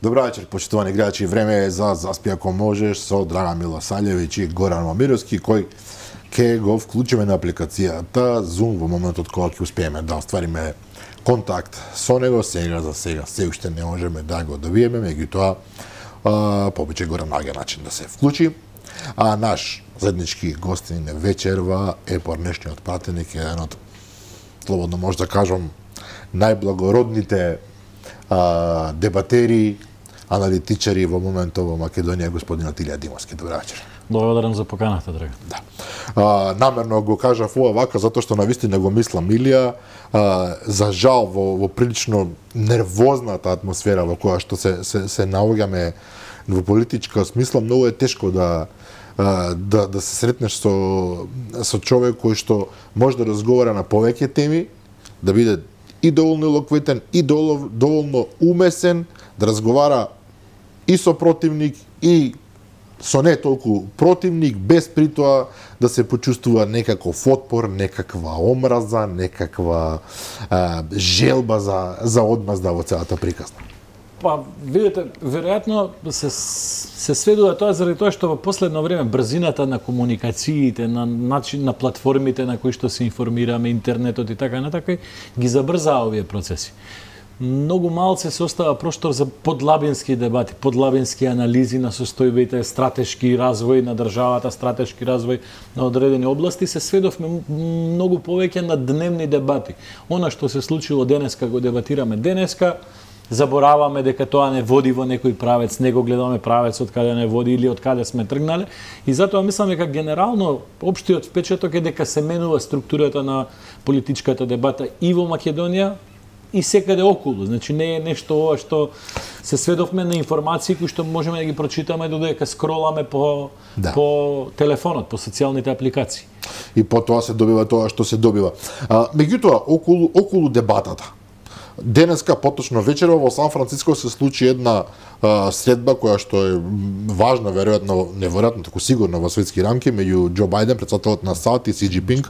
Добра вечер, почитувани гледачи. Време е за Заспи ако можеш со Драган Милосаљевиќ и Горан Момировски, кој ќе го вклучиме на апликацијата Zoom во моментот кога ќе успееме да оствариме контакт со него. За сега се уште не можеме да го добиеме, меѓутоа побиче Горан наѓа начин да се вклучи. А наш заеднички гостин вечерва е порнешниот пратеник, еден од, слободно може да кажам, најблагородните дебатери, аналитичари во моментот во Македонија, господинот Илија Димовски. Добра вечер. Благодарам за поканата, Драган. Да. Намерно го кажав ова вака, затоа што навистина го мислам, Илија, за жал во прилично нервозната атмосфера во која што се наоѓаме во политичка смисла, многу е тешко да се сретнеш со човек кој што може да разговара на повеќе теми, да биде и доволно елоквентен, и доволно умесен, да разговара и со противник, и со не толку противник, без притоа да се почувствува некаков отпор, некаква омраза, некаква желба за одмазда во целата приказна. Па, видите, веројатно се сведува тоа заради тоа што во последно време брзината на комуникациите, на начин на платформите на кои што се информираме, интернетот и така натака, ги забрзаа овие процеси. Многу малце се остава простор за подлабински дебати, подлабински анализи на состојбите, стратешки развој на државата, стратешки развој на одредени области. Се сведовме многу повеќе на дневни дебати. Она што се случило денеска го дебатираме денеска, забораваме дека тоа не води во некој правец, не го гледаме правец од каде не води или од каде сме тргнале. И затоа мислам дека генерално општиот впечаток е дека се менува структурата на политичката дебата и во Македонија и секаде околу. Значи не е нешто ова што се сведовме на информации кои што можеме да ги прочитаме додека скроламе по телефонот, по социјалните апликации. И потоа се добива тоа што се добива. Меѓутоа околу дебатата. Денеска, поточно вечерва, во Сан Франциско се случи една средба која што е важна, неверојатно, таку сигурно во светски рамки, меѓу Џо Бајден, председателот на САД, и Си Џинпинг,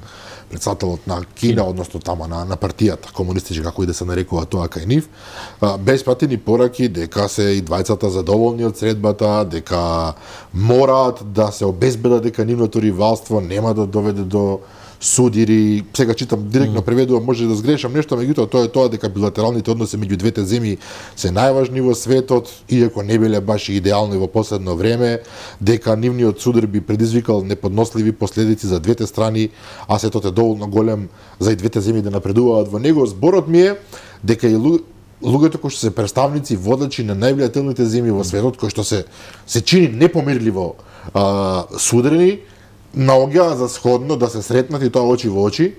председателот на Кина, односно тама на партијата комунистичка, како и да се нарекува тоа кај нив. Без пратени пораки дека се и двајцата задоволни од средбата, дека мораат да се обезбедат дека нивното ривалство нема да доведе до судири. Сега читам директно преведувам, може да сгрешам нешто, меѓутоа тоа е тоа дека билатералните односи меѓу двете земји се најважни во светот, иако не биле баш идеални во последно време, дека нивниот судар би предизвикал неподносливи последици за двете страни, а светот е доволно голем за и двете земји да напредуваат во него. Зборот ми е дека и луѓето кои што се представници водачи на највлијателните земји во светот, кои што се чини непомирливо судрени, наоѓаа за сходно да се сретнат и тоа очи во очи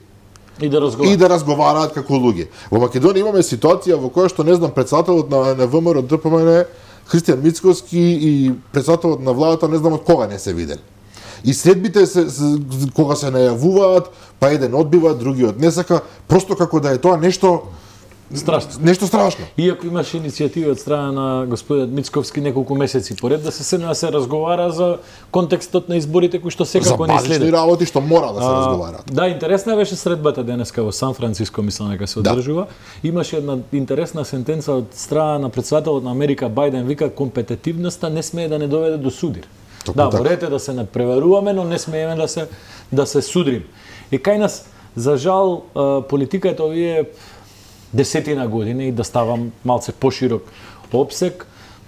и да разговараат како луѓе. Во Македонија имаме ситуација во која што, не знам, председателот на ВМРО ДПМН Христијан Мицкоски и председателот на владата не знам од кога не се видели. И средбите кога се најавуваат, па еден одбива, другиот не сака, просто како да е тоа нешто страшно. Иако имаше иницијативи од страна на господинот Мицковски неколку месеци поред да се разговара за контекстот на изборите кои што секако не следат. За базични работи што мора да се разговараат. Да, интересна беше средбата денеска во Сан Франциско, мислам дека се одржува. Имаше една интересна сентенца од страна на председателот на Америка Бајден, вика компетитивноста не смее да не доведе до судир. Борете да се надпреваруваме, но не смееме да се судрим. И кај нас, за жал, политиката овие десетина години, и да ставам малце поширок опсек,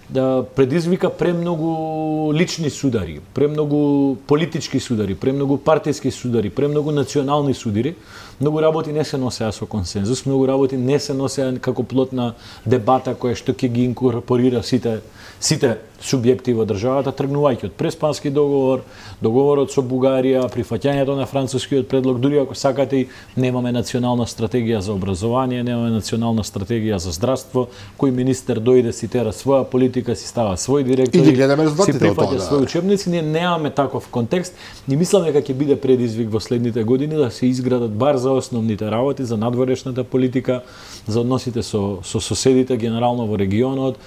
да предизвика премногу лични судари, премногу политички судари, премногу партиски судари, премногу национални судари. Многу работи не се носеа со консензус, многу работи не се носеа како плод на дебата која што ќе ги инкорпорира сите субјекти во државата, тргнувајќи од Преспански договор, договорот со Бугарија, прифаќањето на францускиот предлог, дури ако сакате, немаме национална стратегија за образование, немаме национална стратегија за здравство, кој министер дојде си тера своја политика, си става свој директор, си прифаќа своји учебници, ние немаме таков контекст и мислам дека ќе биде предизвик во следните години да се изградат бар за основните работи, за надворешната политика, за односите со соседите, генерално во регионот,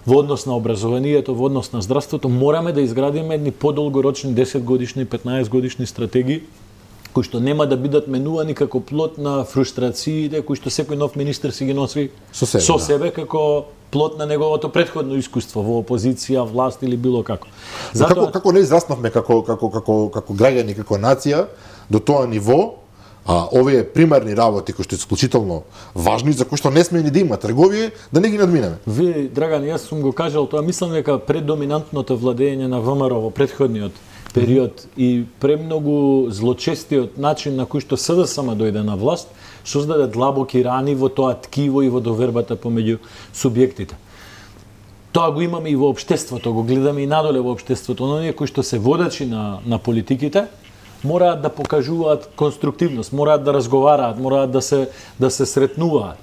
во однос на образованието, во однос на здравството. Мораме да изградиме едни подолгорочни 10 годишни, 15 годишни стратегии кои што нема да бидат менувани како плод на фрустрациите кои што секој нов министер си ги носи со себе како плод на неговото претходно искуство во опозиција, власт или било како. Како не израснавме како граѓани, како нација до тоа ниво, овие примерни работи кои што се исклучително важни, за кои што не сме ни да има трговија, да не ги надминеме. Ви, Драган, јас сум го кажал тоа, мислам дека предоминантното владење на ВМРО во претходниот период и премногу злочестиот начин на кој што СДСМ дојде на власт, создаде длабоки рани во тоа ткиво и во довербата помеѓу субјектите. Тоа го имаме и во општеството, го гледаме и надоле во општеството, но оние кои што се водачи на политиките, мораат да покажуваат конструктивност, мораат да разговараат, мораат да се сретнуваат.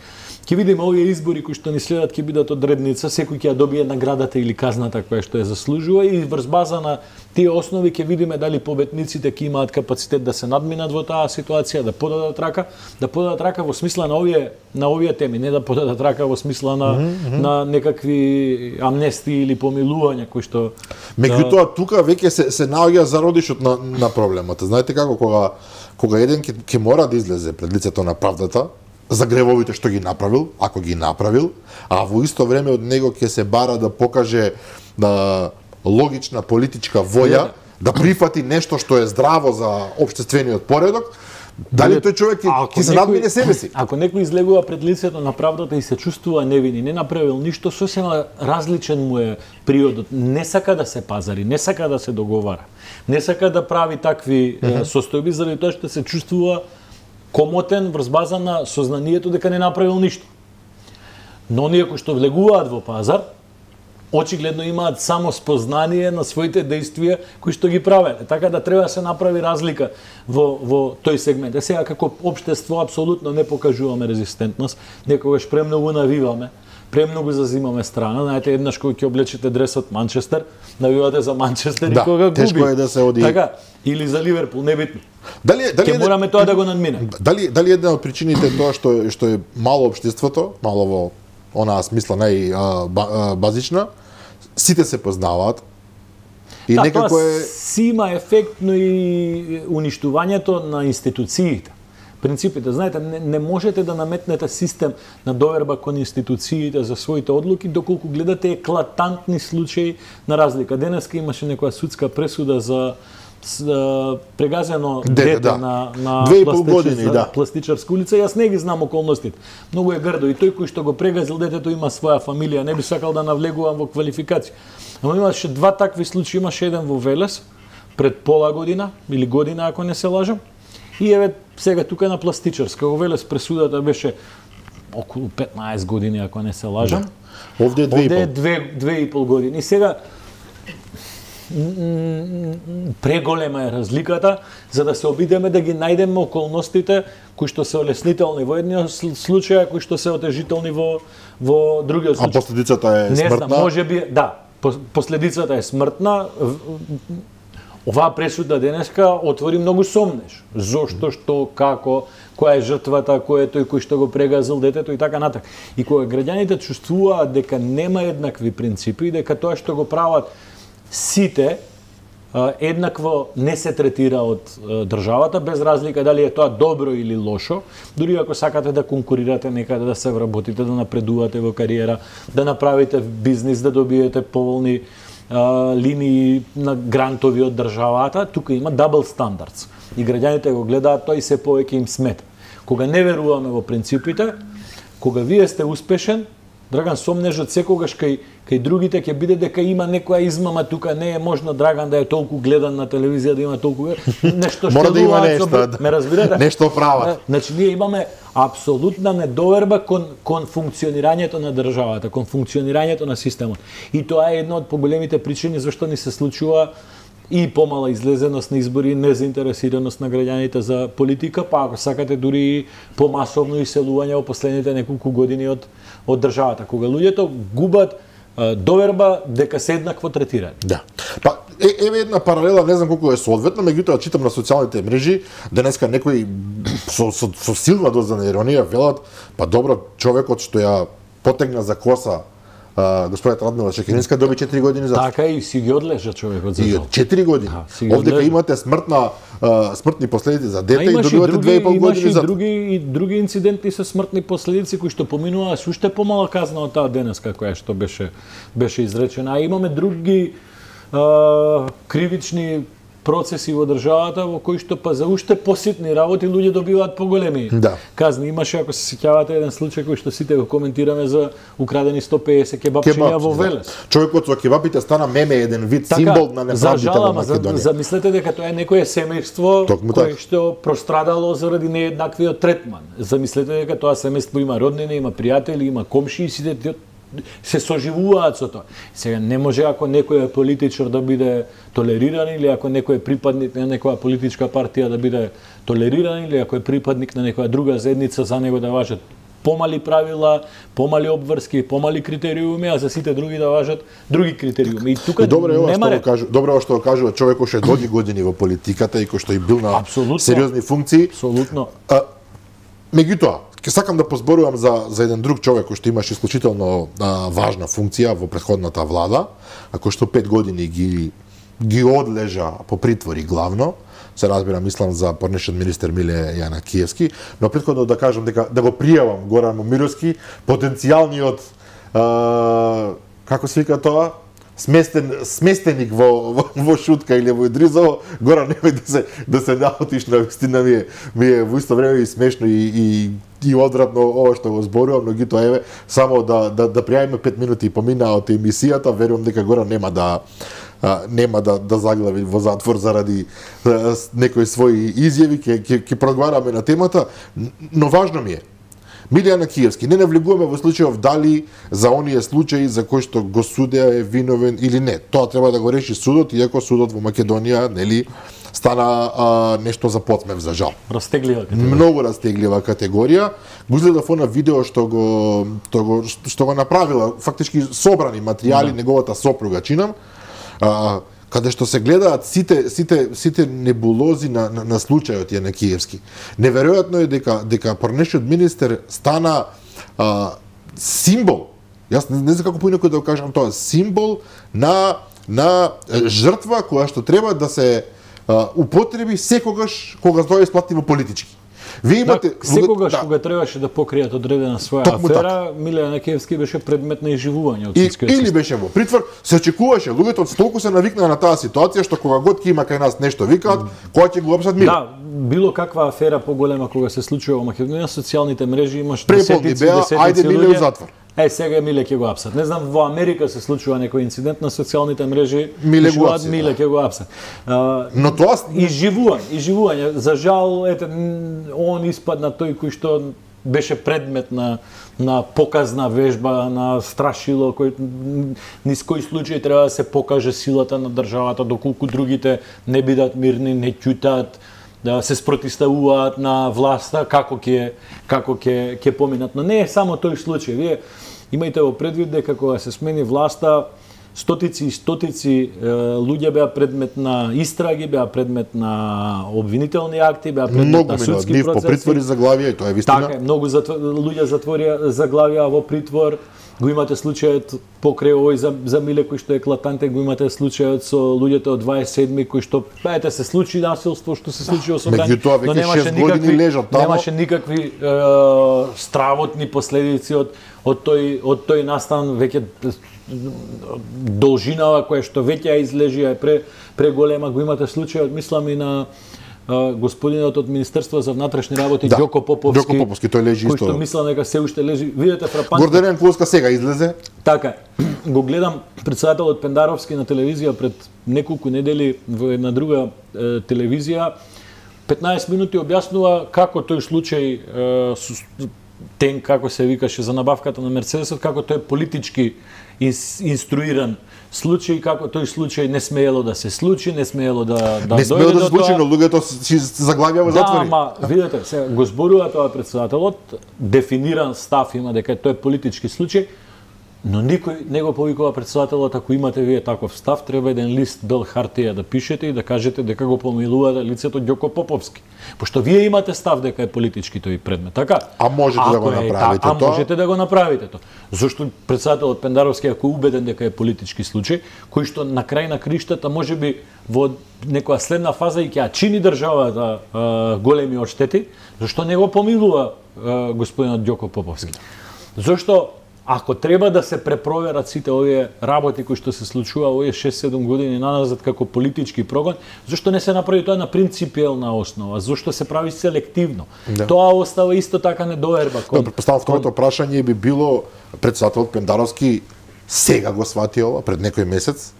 Ќе видиме овие избори кои што ни следат ќе бидат одредница, секој ќе ја добие наградата или казната која што ја заслужува и врз база на тие основи ќе видиме дали победниците ќе имаат капацитет да се надминат во таа ситуација, да подадат рака во смисла на овие теми, не да подадат рака во смисла на некакви амнестии или помилувања кои што меѓутоа тука веќе се наоѓа зародишот на проблемот. Знаете како кога еден ќе мора да излезе пред лицето на правдата за гревовите што ги направил, ако ги направил, а во исто време од него ќе се бара да покаже логична политичка воља, да прифати нешто што е здраво за општествениот поредок, дали тој човек ќе се надмине себе си? Ако некој излегува пред лицето на правдата и се чувствува невин и не направил ништо, сосема различен му е приодот. Не сака да се пазари, не сака да се договара, не сака да прави такви состојби заради тоа што се чувствува комотен врз база на сознанието дека не направил ништо. Но оние кои што влегуваат во пазар, очигледно имаат само спознание на своите действија кои што ги правеле. Така да треба да се направи разлика во тој сегмент. Сега како општество апсолутно не покажуваме резистентност, некогаш премногу навиваме, премногу зазимаме страна. Знаете, еднаш кога ќе облечете дресот Манчестер, навивате за Манчестер и кога губи. Тешко е да се оди. Така, или за Ливерпул, небитно. Ќе мораме тоа да го надминеме. Дали една од причините тоа што е мало општеството, мало во онаа смисла базична, сите се познаваат и некако е си има ефект, но и уништувањето на институциите. Принципите, знаете, не можете да наметнете систем на доверба кон институциите за своите одлуки доколку гледате еклатантни случаи на разлика. Денеска имаше некоја судска пресуда за прегазено дете на Пластичарска улица. Јас не ги знам околностите. Многу е грдо и тој кој што го прегазил детето има своја фамилија. Не би сакал да навлегувам во квалификација. Ама имаше два такви случаи. Имаше еден во Велес пред пола година или година ако не се лажам. И еве сега тука на Пластичарска. Во Велес пресудата беше околу 15 години ако не се лажам. Овде е 2,5 години. И сега преголема е разликата за да се обидеме да ги најдеме околностите кои што се олеснителни во едниот случај, кои што се отежителни во другиот случај. А последицата е смртна? Не знам, можеби да, последицата е смртна. Оваа пресуда денеска отвори многу сомнеж. Зошто, што, како, која е жртвата, кој е тој кој што го прегазил детето и така натаму. И кога граѓаните чувствуваат дека нема еднакви принципи и дека тоа што го прават сите еднакво не се третира од државата, без разлика дали е тоа добро или лошо, дури ако сакате да конкурирате некаде, да се вработите, да напредувате во кариера, да направите бизнис, да добиете поволни линии на грантови од државата, тука има double standards. И граѓаните го гледаат тоа и се повеќе им смета. Кога не веруваме во принципите, кога вие сте успешен, Драган, сомнежот секогаш кај другите ќе биде дека има некоја измама тука, не е можно Драган да е толку гледан на телевизија, да има толку нешто што мора да има нешто, ме разбирате? Нешто прават. Значи ние имаме апсолутна недоверба кон функционирањето на државата, кон функционирањето на системот. И тоа е една од поголемите причини зашто ни се случува и помала излезеност на избори, незаинтересираност на граѓаните за политика, па ако сакате дури и помасовно иселување во последните неколку години од државата, кога луѓето губат доверба дека се еднакво третирани. Да. Па еве една паралела, не знам колку е соодветна, меѓутоа читам на социјалните мрежи, денеска некои со силна доза на иронија велат, па добро, човекот што ја потегна за коса господјата Радмила Чекининска доби 4 години затвор. Така и си ги одлежа човекот за жал. 4 години. Овдека имате смртни последици за дете и добивате 2,5 години затвор. И други инциденти со смртни последици кои што поминуваа со уште помала казна од таа денеска која што беше изречена. А имаме други кривични процеси во државата во кои што па за уште поситни работи луѓе добиваат поголеми казни. Имаше, ако се сеќавате, еден случај кој што сите го коментираме за украдени 150 кебапчиња во Велес. Човекот со кебапите стана меме, еден вид символ на неправдите во Македонија. Замислете дека тоа е некое семејство кое што прострадало заради нееднаквиот третман. Замислете дека тоа семејство има роднини, има пријатели, има комшии, сите се соживуваат со тоа. Сега не може ако некој е политичар да биде толериран или ако некој е припадник на некоја политичка партија да биде толериран или ако е припадник на некоја друга заедница за него да важат помали правила, помали обврски, помали критериуми, а за сите други да важат други критериуми. И тука нема ред. Добро ова што го кажува човек кој ше доди години во политиката и кој што и бил на сериозни функции. Апсолутно. Меѓутоа, ќе сакам да позборувам за еден друг човек кој што имаше исклучително важна функција во претходната влада, а кој што 5 години ги одлежа по притвори главно. Се разбира, мислам за порнешен министер Миле Јанакиевски, но претходно да кажам дека да го пријавам Горан Момировски, потенцијалниот како се вика тоа, сместеник во Шутка или во Идризово. Горан, немој да се наутиш, на вистина ми е во исто време и смешно и одвратно ова што го зборувам, но гито еве само да пријавиме 5 минути и поминаа од емисијата, верувам дека Горан нема да заглави во затвор заради некои своји изјави, ќе проговараме на темата, но важно ми е Миле Јанакиевски, не навлегуваме во случајов дали за оние случаи за кои што го судеа е виновен или не. Тоа треба да го реши судот, иако судот во Македонија, нели, стана нешто за подсмев, за жал. Растеглива категорија. Многу растеглива категорија. Го изгледав на видео што го направила, фактички собрани материјали, неговата сопруга, чинам, каде што се гледаат сите небулози на случајот Јанакиевски. Неверојатно е дека порнешиот министер стана символ. Јас не знам како поинаку да го кажам тоа, символ на жртва која што треба да се употреби секогаш кога тоа е исплатливо политички. Вие имате секогаш кога требаше да покријат одредена своја афера, Миле Јанакиевски беше предмет на изживување од ситскиот или беше во притвор, се очекуваше, луѓето толку се навикнаа на таа ситуација што кога год ќе има кај нас нешто викаат, кога ќе го опсат Миле. Да, било каква афера поголема кога се случува во Македонија, социјалните мрежи имаш десетици луѓе. Сега Миле ќе го апсат. Не знам, во Америка се случува некој инцидент на социјалните мрежи, Миле ќе го апсат. Но тоа изживување. За жал, он испадна тој кој што беше предмет на показна вежба, на страшило, низ кој случај треба да се покаже силата на државата, доколку другите не бидат мирни, не ќутат, да се спротивставуваат на власта, како ќе поминат. Но не е само тој случај. Вие имајте во предвид дека кога се смени власта, стотици и стотици луѓе беа предмет на истраги, беа предмет на обвинителни акти, беа предмет на судски процеси. По притвори заглавија, и тоа е вистина. Така, многу луѓе заглавија во притвор. Го имате случајот покрај овој за Миле кој што е еклатантен, го имате случајот со луѓето од 27 кои што се случи насилство што се случи во собрание, но немаше никакви стравотни последици од тој настан, веќе должинава која што веќе ја излежи е преголема. Го имате случајот, мислам, и на господинот од Министерство за внатрешни работи, Ѓоко Поповски, тој лежи исто. Кој што мислам дека се уште лежи. Видете фрапантно. Горден Клуска сега излезе. Така. Го гледам претседателот Пендаровски на телевизија пред неколку недели во една друга телевизија. 15 минути објаснува како тој случај Тен, како се викаше за набавката на Мерцедесот, како тој политички инструиран случај, како тој случај не смеело да се случи, не смеело да не смеело да се случи, но луѓето си заглавија во затвори. Да, ама видете, сега го зборува тоа претседателот, дефиниран став има дека тој е политички случај, Но никој не го повикува претседателот, ако имате вие таков став, треба еден лист бел хартија да пишете и да кажете дека го помилувате лицето Ѓоко Поповски. Пошто вие имате став дека е политички тој предмет, така? А можете да го направите тоа? А можете да го направите тоа. Зошто претседателот Пендаровски, ако е убеден дека е политички случај, кој што на крај на криштата можеби во некоја следна фаза и ќе ја чини државата големи одштети, зашто не го помилува господинот Ѓоко Поповски? Зошто ако треба да се препроверат сите овие работи кои што се случува овие 6-7 години наназад како политички прогон, зашто не се направи тоа на принципиелна основа? Зашто се прави селективно? Да. Тоа остава исто така недоверба. Предпоставам второто прашање би било претседателот Пендаровски сега го свати ова пред некој месец?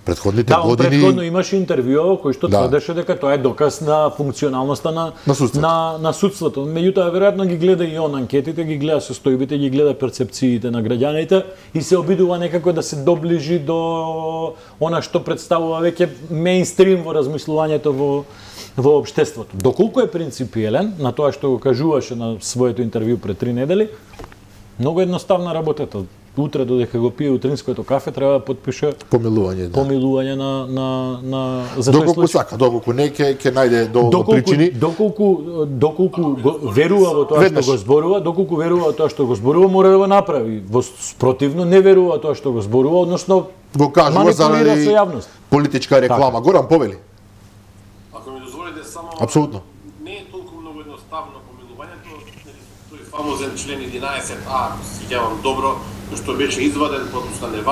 Предходните години... Да, предходно имаше интервјуа кој што тврдеше дека тоа е доказ на функционалноста на судството. Меѓутоа, веројатно ги гледа и он анкетите, ги гледа состојбите, ги гледа перцепциите на граѓаните и се обидува некако да се доближи до она што представува веќе мејнстрим во размислувањето во општеството. Доколку е принципиелен, на тоа што го кажуваше на своето интервју пред 3 недели, многу едноставна работата. Утре додека го пие утринското кафе треба да подпише помилување на за тој случај. Сака, доколку не ќе најде доволно причини. Доколку верува во тоа што го зборува, доколку верува во тоа што го зборува, мора да го направи. Во спротивно не верува тоа што го зборува, односно го кажува заради политичка реклама. Горан, повели. Ако ми дозволите само апсолутно. Не е толку многу едноставно помилувањето, тој фамозен член 11А, сеќавам добро, што беше изваден, потоа не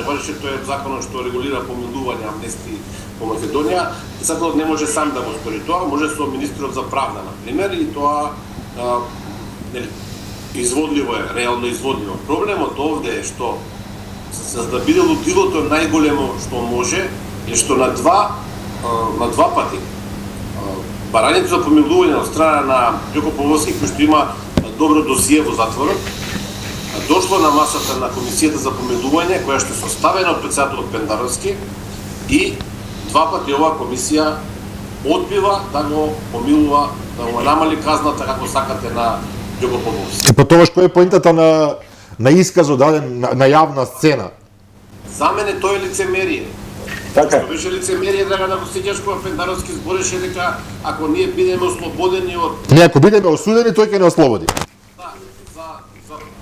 важеше тој законот што регулира помилување, амнестии во Македонија. Законот не може сам да го стори тоа, може со министерот за правда, на пример, и тоа изводливо е, реално изводливо. Проблемот овде е што за да биде лутилото најголемо што може е што на два пати барањето за помилување од страна на Ѓоко Поповски, кој што има добро досие во затворот, дошло на масата на комисијата за помилување, која што е составена од претседателот Пендаровски, и два пати оваа комисија одбива да го помилува, да го намали казната како сакате на Ѓоко Поповски. Па тоа што е поентата на исказот даден на јавна сцена? За мене тоа е лицемерие. Така. Што беше лицемерие, Драгана Костиќаш, кога Пендаровски збореше дека ако ние бидеме ослободени од... Не, ако бидеме осудени, тој ќе не ослободи.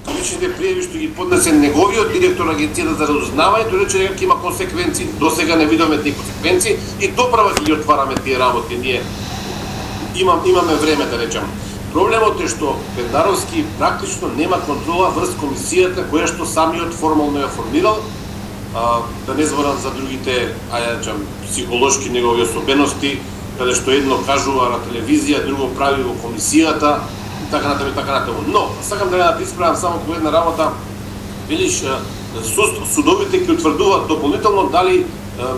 Личните пријави што ги поднесе неговиот директор на Агенцијата за разузнавање, тој рече дека ќе има консеквенции. До сега не видовме тие консеквенции и доправа ќе ги отвараме тие работи. Ние имаме време, да речем. Проблемот е што Пендаровски практично нема контрола врз комисијата која што самиот формално ја формирал. Да не зборам за другите, психолошки негови особености, каде што едно кажува на телевизија, друго прави во комисијата, така натаму. Но, сакам да ја исправам само по една работа. Велиш, судовите ќе утврдуваат дополнително дали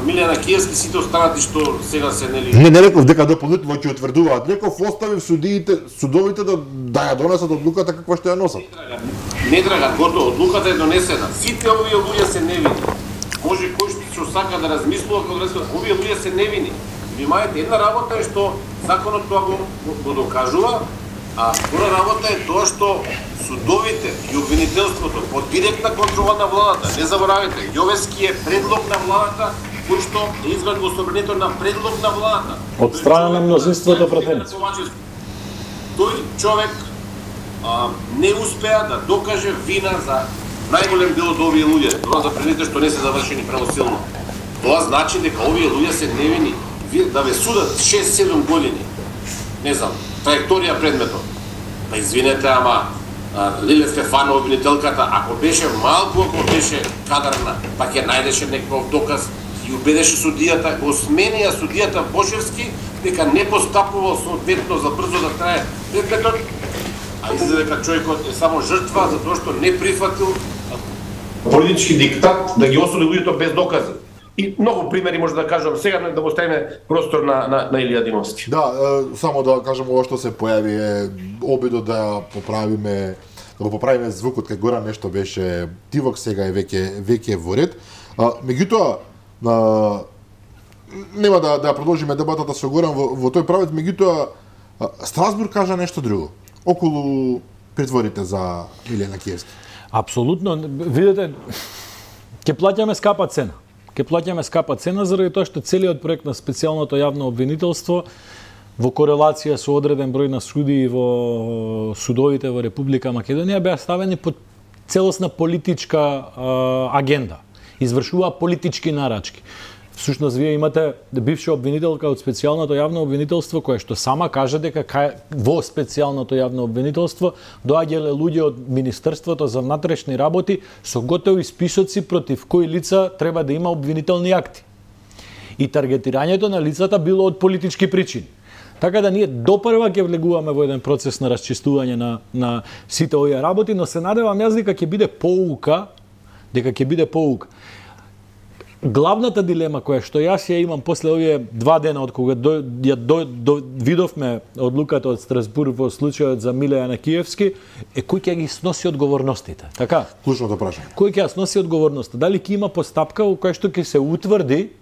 Милјана Киевски сите останати што сега се нели... Не реков дека дополнително ќе утврдуваат. Реков оставив судовите да ја донесат одлуката каква што ја носат. Не, Драган, готово, одлуката е донесена. Сите овие луѓе се невини. Може кој што сака да размислува, овие луѓе се невини. Внимајте, една работа е што законот тоа го докажува, а втора работа е тоа што судовите и обвинителството под директна контрола на владата. Не заборавете, Јовески е предлог на владата, кој што е изваден во собранието на предлог на владата. Од страна на мнозинството претенци. Тој човек не успеа да докаже вина за најголем дел од овие луѓе, тоа за предите што не се завршени правосилно. Тоа значи дека овие луѓе се невини. Да ве судат 6-7 години. Не знам, траекторија предметот. Па извинете, ама Лиле Стефанова, обвинителката, ако беше малку, ако беше кадарна, па ќе најдеше некој доказ и убедеше судијата, го сменија судијата Бошевски дека не постапувал соодветно за брзо да трае предметот, а изгледа дека човекот е само жртва за тоа што не прифатил политички диктат да ги осуди луѓето без докази. И многу примери може да кажам сега, да го оставиме простор на Илија Димовски. Да, само да кажам ова што се појави е обидот да го поправиме звукот кај Горан, нешто беше тивок, сега е веќе во ред. Меѓутоа нема да продолжиме дебатата со Горан во тој правец, меѓутоа Страсбург кажа нешто друго околу притворите за Милјана Киевски. Апсолутно, видите, ќе плаќаме скапа цена. Ќе плаќаме скапа цена заради тоа што целиот проект на специјалното јавно обвинителство во корелација со одреден број на судии во судовите во Република Македонија беа ставени под целосна политичка агенда. Извршува политички нарачки. Всушност, вие имате бивша обвинителка од специјалното јавно обвинителство, која што сама кажа дека во специјалното јавно обвинителство доаѓале луѓе од Министерството за внатрешни работи со готови списоци против кои лица треба да има обвинителни акти. И таргетирањето на лицата било од политички причини. Така да ние допрва ќе влегуваме во еден процес на расчистување на сите овие работи, но се надевам јас дека ќе биде поука, Главната дилема која што јас ја имам после овие 2 дена од кога видовме одлуката од Страсбург во случајот за Миле Јанакиевски е кој ќе ги сноси одговорностите. Така? Клучното прашање. Кој ќе ја сноси одговорноста? Дали ќе има постапка во која што ќе се утврди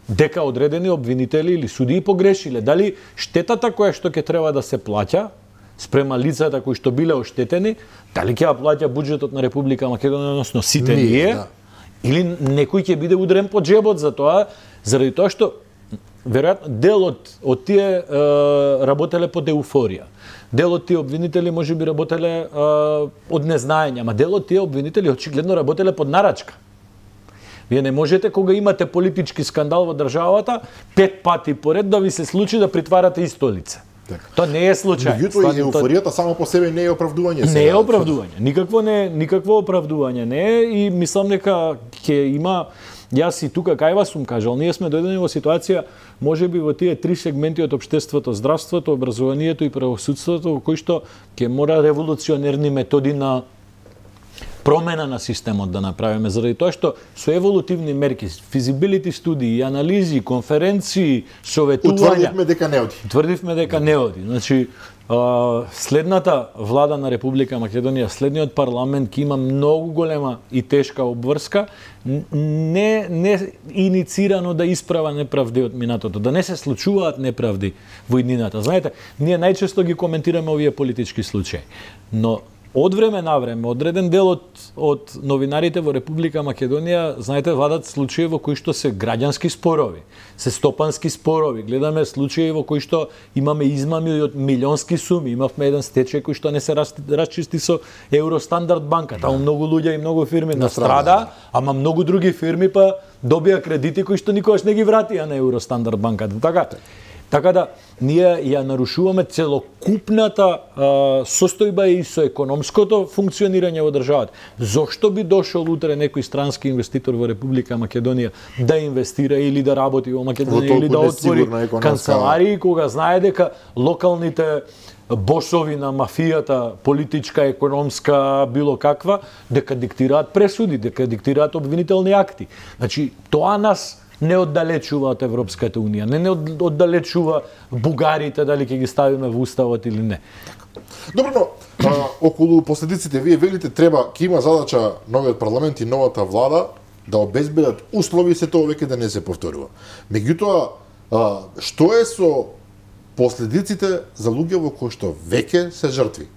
дека одредени обвинители или судии погрешиле? Дали штетата која што ќе треба да се плаќа спрема лицата кои што биле оштетени, дали ќе ја плаќа буџетот на Република Македонија, односно сите ние? Да. Или некој ќе биде удрен по джебот за тоа, заради тоа што веројатно дел од тие работеле под еуфорија. Дел од тие обвинители можеби работеле од незнаење, ама дел од тие обвинители очигледно работеле под нарачка. Вие не можете кога имате политички скандал во државата 5 пати поред да ви се случи да притварате исто лице. Тоа не е случај. Меѓутоа и еуфоријата само по себе не е оправдување. Не е оправдување. Никакво оправдување не е и мислам дека ќе има. Јас и тука кај вас сум кажал, ние сме дојдени во ситуација можеби во тие 3 сегменти од општеството, здравството, образованието и правосудството во кои што ќе мора револуционерни методи на промена на системот да направиме, заради тоа што со еволутивни мерки, физибилити студии, анализи, конференции, советувања, Утврдивме дека не оди. Значи, следната влада на Република Македонија, следниот парламент ќе има многу голема и тешка обврска, не иницирано да исправа неправди од минатото, да не се случуваат неправди во иднината. Знаете, ние најчесто ги коментираме овие политички случаи, но од време на време, одреден дел од новинарите во Република Македонија, знаете, вадат случаи во кои што се граѓански спорови, се стопански спорови. Гледаме случаи во кои што имаме измами од милионски суми. Имавме еден стечај кој што не се расчисти со Евростандард банка. Таму многу луѓе и многу фирми настрада, ама многу други фирми па добија кредити кои што никогаш не ги вратија на Евростандард банката. Така да, ние ја нарушуваме целокупната состојба и со економското функционирање во државата. Зошто би дошол утре некој странски инвеститор во Република Македонија да инвестира или да работи во Македонија или да отвори канцеларии кога знае дека локалните босови на мафијата, политичка, економска, било каква, дека диктираат пресуди, дека диктираат обвинителни акти. Значи, тоа нас не оддалечува од Европската Унија, не оддалечува бугарите дали ќе ги ставиме во уставот или не. Добро, но околу последиците вие велите ќе има задача новиот парламент и новата влада да обезбедат услови се тоа веќе да не се повторува. Меѓутоа, што е со последиците за луѓе во кои што веќе се жртви?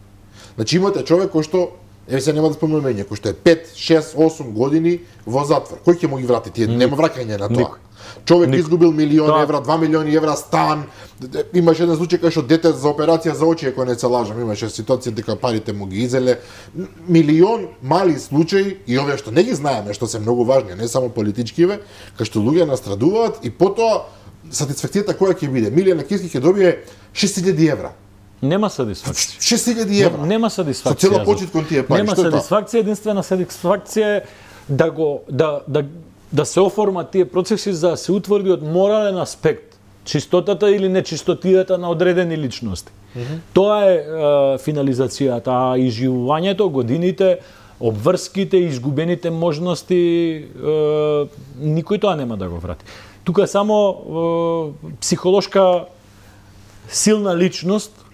Значи имате човек кој што се нема да спомнуваме име, кој што е 5, 6, 8 години во затвор. Кој ќе му ги врати? Тие нема враќање на тоа. Човек изгубил милион евра, 2 милиони евра стан. Имаше еден случај кај што дете за операција за очи, ако не се лажам, имаше ситуација дека парите му ги изеле. Милион мали случаи и овие што не ги знаеме, што се многу важни, не само политичкиве, кај што луѓе настрадуваат и потоа сатисфакцијата која ќе биде? Миле Јанакиевски ќе добие 6000 евра. Нема сатисфакција. 6000 евра. Нема сатисфакција. Со цела почит кон тие пари. Нема сатисфакција, единствена сатисфакција е да се оформат тие процеси за да се утврди од морален аспект чистотата или нечистотијата на одредени личности. Тоа е финализацијата, а изживувањето, годините, обврските, изгубените можности, никој тоа нема да го врати. Тука само психолошка силна личност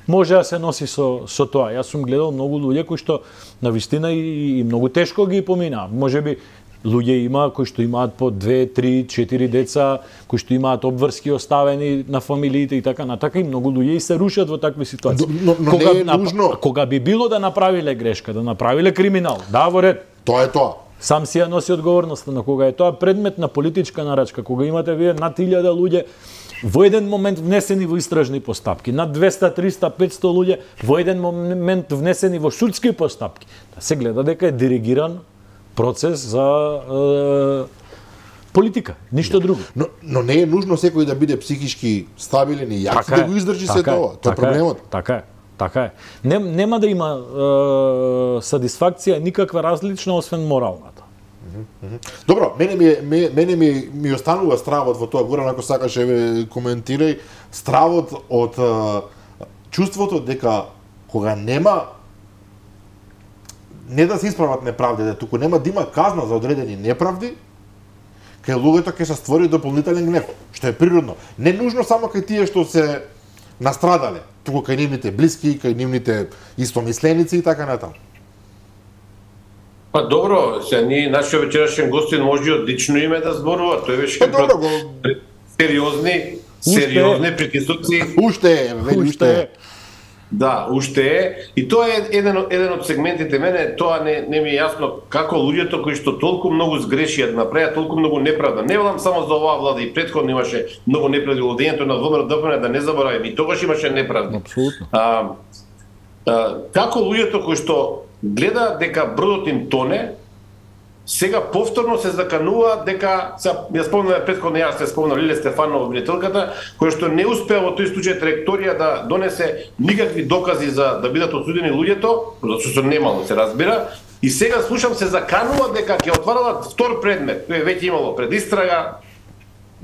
може да се носи со тоа. Јас сум гледал многу луѓе кои што на вистина и многу тешко ги поминаа. Можеби луѓе има кои што имаат по 2, 3, 4 деца, кои што имаат обврски оставени на фамилиите и така натака, и многу луѓе и се рушат во такви ситуации. Но не е нужно. Кога би било да направиле грешка, да направиле криминал, да, во ред. Тоа е тоа. Сам си ја носи одговорноста, на кога е тоа предмет на политичка нарачка, кога имате вие над 1000 луѓе во еден момент внесени во истражни постапки, над 200, 300, 500 луѓе во еден момент внесени во судски постапки, да се гледа дека е диригиран процес за политика, ништо друго. Но не е нужно секој да биде психички стабилен и јак да го издржи се тоа. Тоа е проблемот. Така е. Нема да има сатисфакција никаква различна освен моралната. Добро, мене ми останува стравот во тоа, Горан, ако сакаш коментирај, стравот од чувството дека кога нема не да се исправат неправдите, туку нема да има казна за одредени неправди, кај луѓето ќе се створи дополнителен гнев, што е природно. Не нужно само кај тие што се настрадале, туку кај нивните блиски, кај нивните истомисленици и така натаму. Па добро, ние нашиот вечерашен гостин може одлично име да зборува, тој беше сериозни притисоци. Уште е. Да, уште е. И тоа е еден од сегментите. Мене тоа не ми е јасно како луѓето кои што толку многу сгрешија да направат толку многу неправда. Не велам само за оваа влада, и претходно имаше многу неправди. Владењето на ВМРО-ДПМН, да не забораваме, и тогаш имаше неправди. Апсолутно. Како луѓето кои што гледа дека бродот им тоне, сега повторно се заканува дека, ја спомнаме претходно, јас се спомнав Лиле Стефанова, обвинителката, која што не успеа во тој случај траекторија да донесе никакви докази за да бидат осудени луѓето, затоа што немало се разбира, и сега слушам се заканува дека ќе отварала втор предмет, тој веќе имало предистрага.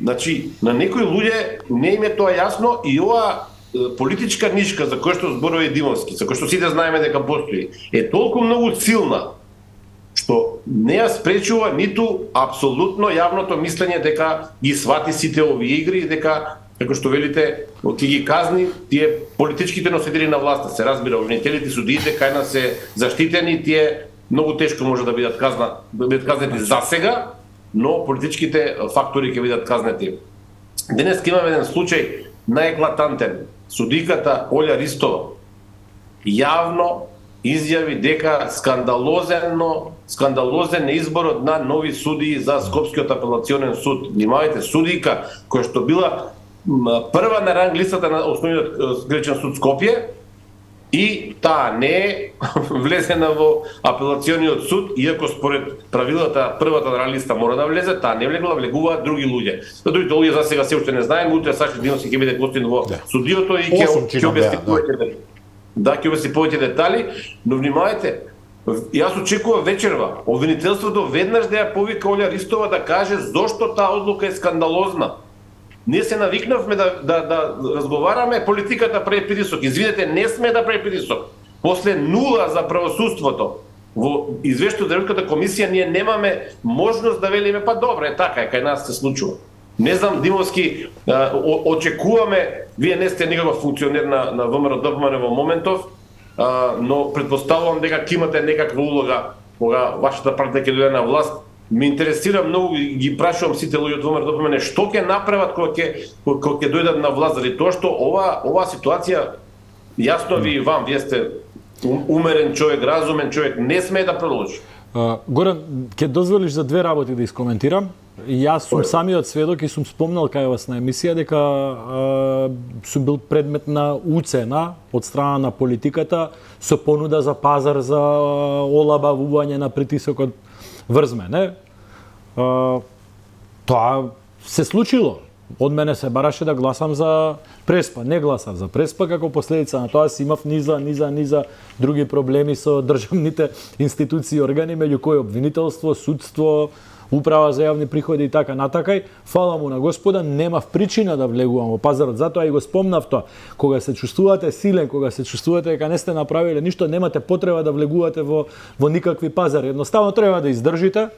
Значи, на некои луѓе не им е тоа јасно, и ова политичка нишка за која што зборува Димовски, за која што сите знаеме дека постои, е толку многу силна што не ја спречува ниту апсолутно јавното мислење дека ги свати сите овие игри и дека, како што велите, ќе ги казни тие политичките носители на власта. Се разбира, обвинителите, судиите кај нас се заштитени, тие многу тешко може да бидат казнети за сега, но политичките фактори ќе бидат казнети. Денес имаме еден случај наеклатантен. Судиката Олја Ристова јавно изјави дека скандалозен е изборот на нови судии за Скопскиот апелационен суд. Внимавајте, судика која што била прва на ранг листата на Основниот гречен суд Скопје, и таа не е влезена во апелациониот суд, иако според правилата првата на ранг листа мора да влезе, таа не влегла, влегуваат други луѓе. Другите луѓе за сега се уште не знаеме, утре Саши Димовски ќе биде гостин во судиото и ќе објасни повеќе. Да, ќе објасни повеќе детали, но внимавајте, јас очекував вечерва обвинителството веднаш да ја повика Олја Ристова да каже зошто таа одлука е скандалозна. Ние се навикнавме да разговараме, политиката прави притисок. Извинете, не сме да прави притисок. После 0 за правосудството во извештајот од Европската комисија ние немаме можност да велиме па добро е така, кај нас се случува. Не знам, Димовски, очекуваме, вие не сте никаков функционер на ВМРО-ДПМН во моментов, но предпоставувам дека ќе имате некаква улога кога вашата партија ќе дојде на власт. Ме интересира многу, ги прашувам сите луѓе од ВМРО-ДПМН што ќе направат кога ќе дојдат на власт, заради тоа што ова ситуација, јасно ви и вам, вие сте умерен човек, разумен човек, не сме да продолжи. Горан, ќе дозволиш за две работи да искоментирам. Јас сум самиот сведок и сум спомнал кај вас на емисија дека сум бил предмет на уцена од страна на политиката со понуда за пазар за олабавување на притисокот врз мене. Тоа се случило. Од мене се бараше да гласам за Преспа. Не гласав за Преспа, како последица на тоа си имав низа други проблеми со државните институции и органи, меѓу кои обвинителство, судство, управа за јавни приходи и така натакај. Фала му на Господа, немав причина да влегувам во пазарот, затоа и го спомнав тоа. Кога се чувствувате силен, кога се чувствувате дека не сте направиле ништо, немате потреба да влегувате во никакви пазари. Едноставно треба да издржите,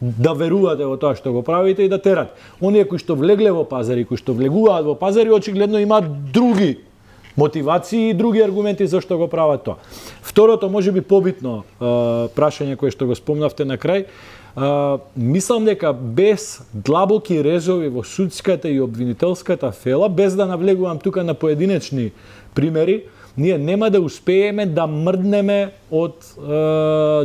да верувате во тоа што го правите и да терате. Оние кои што влегле во пазари, кои што влегуваат во пазари, очигледно имаат други мотивации и други аргументи зашто го прават тоа. Второто, можеби побитно прашање кое што го спомнавте на крај, мислам дека без длабоки резови во судската и обвинителската фела, без да навлегувам тука на поединечни примери, ние нема да успееме да мрднеме од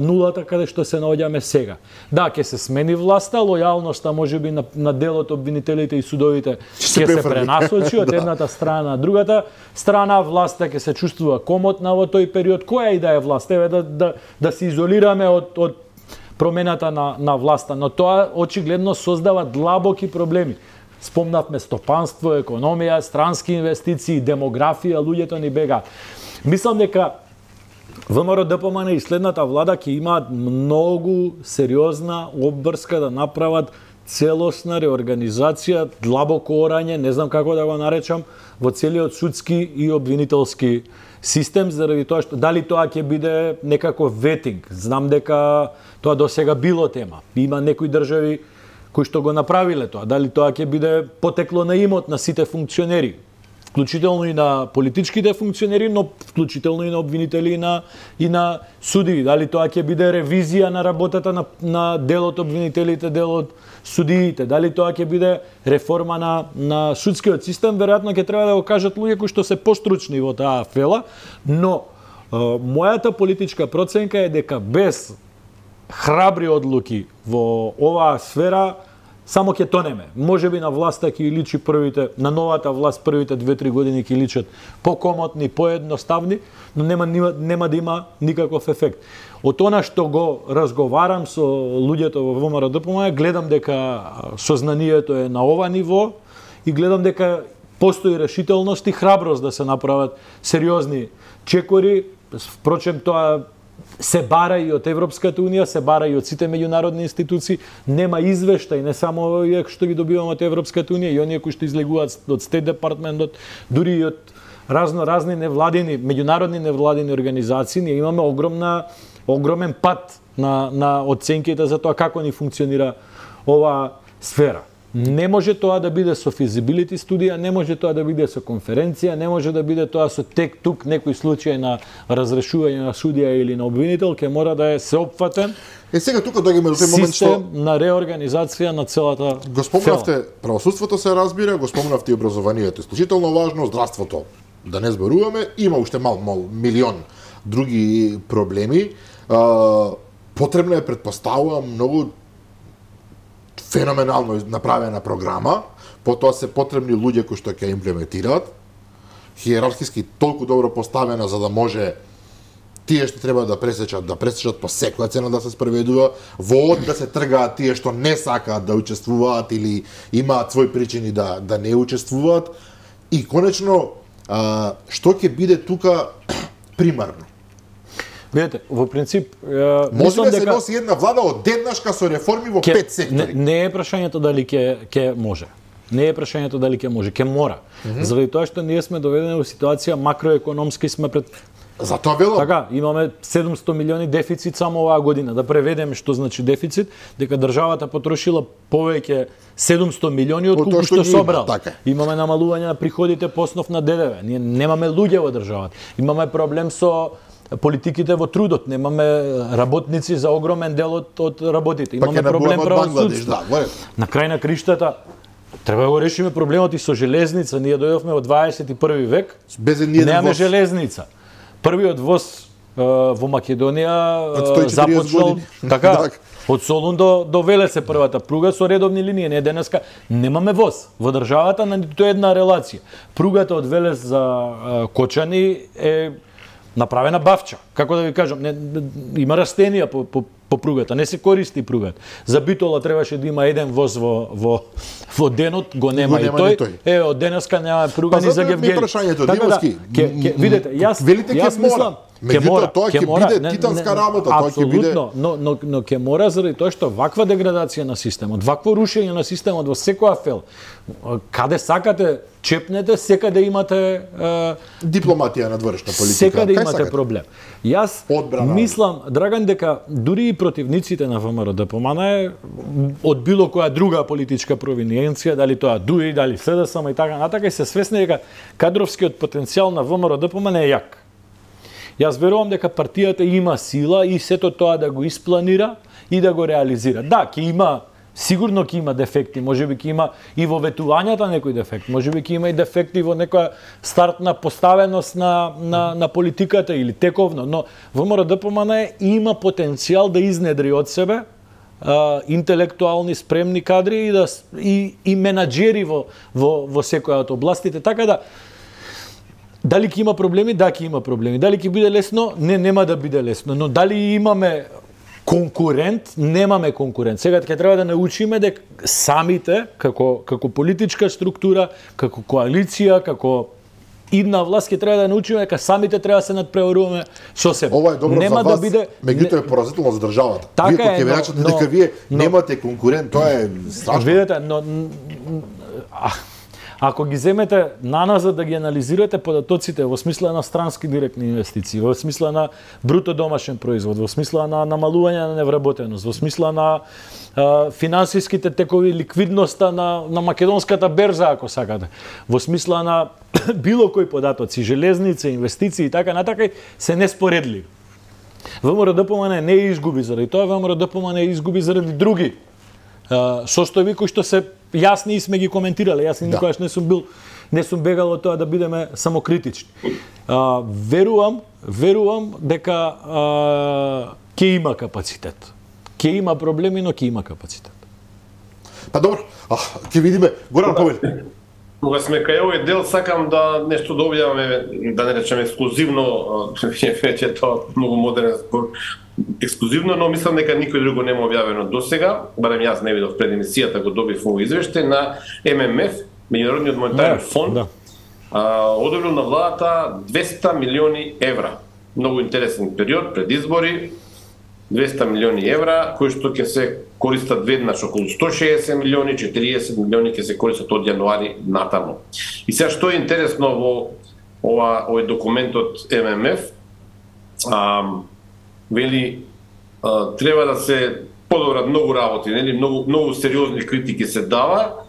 нулата каде што се наоѓаме сега. Да, ќе се смени власта, лојалноста можеби на дел од обвинителите и судовите ќе се пренасочи од едната страна на другата страна, власта ќе се чувствува комотна во тој период. Која и да е власт? Еве да се изолираме од промената на власта, но тоа очигледно создава длабоки проблеми. Спомнавме стопанство, економија, странски инвестиции, демографија, луѓето ни бегаат. Мислам дека ВМРО ДПМН и следната влада ќе имаат многу сериозна обврска да направат целосна реорганизација, длабокоорање, не знам како да го наречам, во целиот судски и обвинителски систем, заради тоа што дали тоа ќе биде некаков ветинг. Знам дека тоа досега било тема. Има некои држави кои што го направиле тоа. Дали тоа ќе биде потекло на имот на сите функционери, вклучително и на политичките функционери, но вклучително и на обвинители и на судии. Дали тоа ќе биде ревизија на работата на дел од обвинителите, дел од судиите. Дали тоа ќе биде реформа на судскиот систем, веројатно ќе треба да го кажат луѓе кои што се постручни во таа фела, но мојата политичка проценка е дека без храбри одлуки во оваа сфера само ќе тонеме. Можеби на власта ќе личи на новата власт првите 2-3 години ќе личат покомотни, поедноставни, но нема да има никаков ефект. Од она што го разговарам со луѓето во ВМРО ДПМН, гледам дека сознанието е на ова ниво и гледам дека постои решителност и храброст да се направат сериозни чекори. Впрочем, тоа се бара и од Европската унија, се бара и од сите меѓународни институции. Нема извештај, не само овие што ги добиваме од Европската унија, и оние кои што излегуваат од Стейт департментот, дури и од разни невладини, меѓународни невладини организации. Ние имаме огромен пат на оценките за тоа како ни функционира оваа сфера. Не може тоа да биде со feasibility студија, не може тоа да биде со конференција, не може да биде тоа со тук некој случај на разрешување на судија или на обвинител, ќе мора да е сеопфатен. Сега тука доаѓаме до тој момент што систем на реорганизација на целата го спомнавте, правосудството се разбира, го спомнавте и образованието, исклучително важно, здравството. Да не зборуваме, има уште милион други проблеми. Потребно е, предпоставувам, многу феноменално направена програма, потоа се потребни луѓе кои што ќе имплементираат, хиерархиски толку добро поставена за да може тие што треба да пресечат по секоја цена да се спроведува, во да се тргаат тие што не сакаат да учествуваат или имаат своји причини да не учествуваат, и конечно што ќе биде тука примарно. Видете, во принцип, може да се носи една влада одеднашка со реформи во 5 сектори. Не е прашањето дали ќе може. Не е прашањето дали ќе може, ќе мора. Заради тоа што ние сме доведени во ситуација макроекономски сме пред Затоа велам. Така, имаме 700 милиони дефицит само оваа година. Да преведеме што значи дефицит, дека државата потрошила повеќе 700 милиони од колку што собрал. Така. Имаме намалување на приходите по основ на ДДВ. Ние немаме луѓе во државата. Имаме проблем со политиките во трудот, немаме работници за огромен дел од работите. Имаме проблем правосудство. На крај на криштата треба да го решиме проблемот и со железница. Ние дојдовме во 21 век, немаме железница. Првиот воз во Македонија започнал така од Солун до Велесе првата пруга со редовни линии. Не денеска немаме воз во државата на ниту една релација. Пругата од Велес за Кочани е направена бавча. Како да ви кажам, има растенија по пругата, не се користи пругата. За Битола требаше да има еден воз во денот, го нема и тој. Од денеска нема пруга ни за Гевгели. Видете, јас мислам, меѓутоа тоа ќе биде титанска работа, тоа ќе биде. Но ќе мора заради тоа што ваква деградација на системот, вакво рушење на системот во секоја фел. Каде сакате чепнете, секаде имате дипломатија надворешна политика. Секаде имате проблем. Јас мислам, Драган, дека дури противниците на ВМРО-ДПМН е од било која друга политичка провиненција, дали тоа ДУИ, дали СДСМ и така натака, и се свесни дека кадровскиот потенцијал на ВМРО-ДПМН е јак. Јас верувам дека партијата има сила и сето тоа да го испланира и да го реализира. Да, сигурно ќе има дефекти, можеби ќе има и во ветувањата некој дефект, можеби ќе има и дефекти во некоја стартна поставеност на политиката или тековно, но ВМРО-ДПМН има потенцијал да изнедри од себе интелектуални спремни кадри и менаџери во секоја од областите, така да дали ќе има проблеми? Да, ќе има проблеми. Дали ќе биде лесно? Не, нема да биде лесно, но дали имаме конкурент? Немаме конкурент. Сега ќе треба да научиме дека самите, како политичка структура, како коалиција, како идна власт, ќе треба да научиме дека самите треба да се надпреваруваме со себе. Ова е добро нема за вас, да биде меѓутоа е поразително за државата. Така вие ќе речете дека вие немате конкурент, тоа е страшно. Видете, ако ги земете наназад да ги анализирате податоците во смисла на странски директни инвестиции, во смисла на бруто домашен производ, во смисла на намалување на невработеност, во смисла на финансиските текови, ликвидноста на македонската берза, ако сакате, во смисла на било кои податоци, железница, инвестиции и така натака, се неспоредливи. ВМРО-ДПМН не изгуби заради тоа, ВМРО-ДПМН изгуби заради други состојби кои што се јасни и сме ги коментирале. Јас никогаш не сум бегал од тоа да бидеме самокритични. Верувам дека ќе има капацитет. Ќе има проблеми, но ќе има капацитет. Па добро, ќе видиме. Горан Повели. Кога сме кај овој дел, сакам да нешто да објавиме, да не речеме ексклузивно, веќе тоа многу модерен збор, ексклузивно, но мислам дека никој друго нема објавено досега, барем јас не видов пред емисијата го добив овој извештај на ММФ, Меѓународниот монетарен фонд, одобрил на владата 200 милиони евра. Многу интересен период пред избори, 200 милиони евра, кои што ќе се користат веднаш, околу 160 милиони, 40 милиони ќе се користат од јануари натаму. И сега што е интересно во овој документ од ММФ, вели треба да се подобрат многу работи, нели, многу сериозни критики се дава,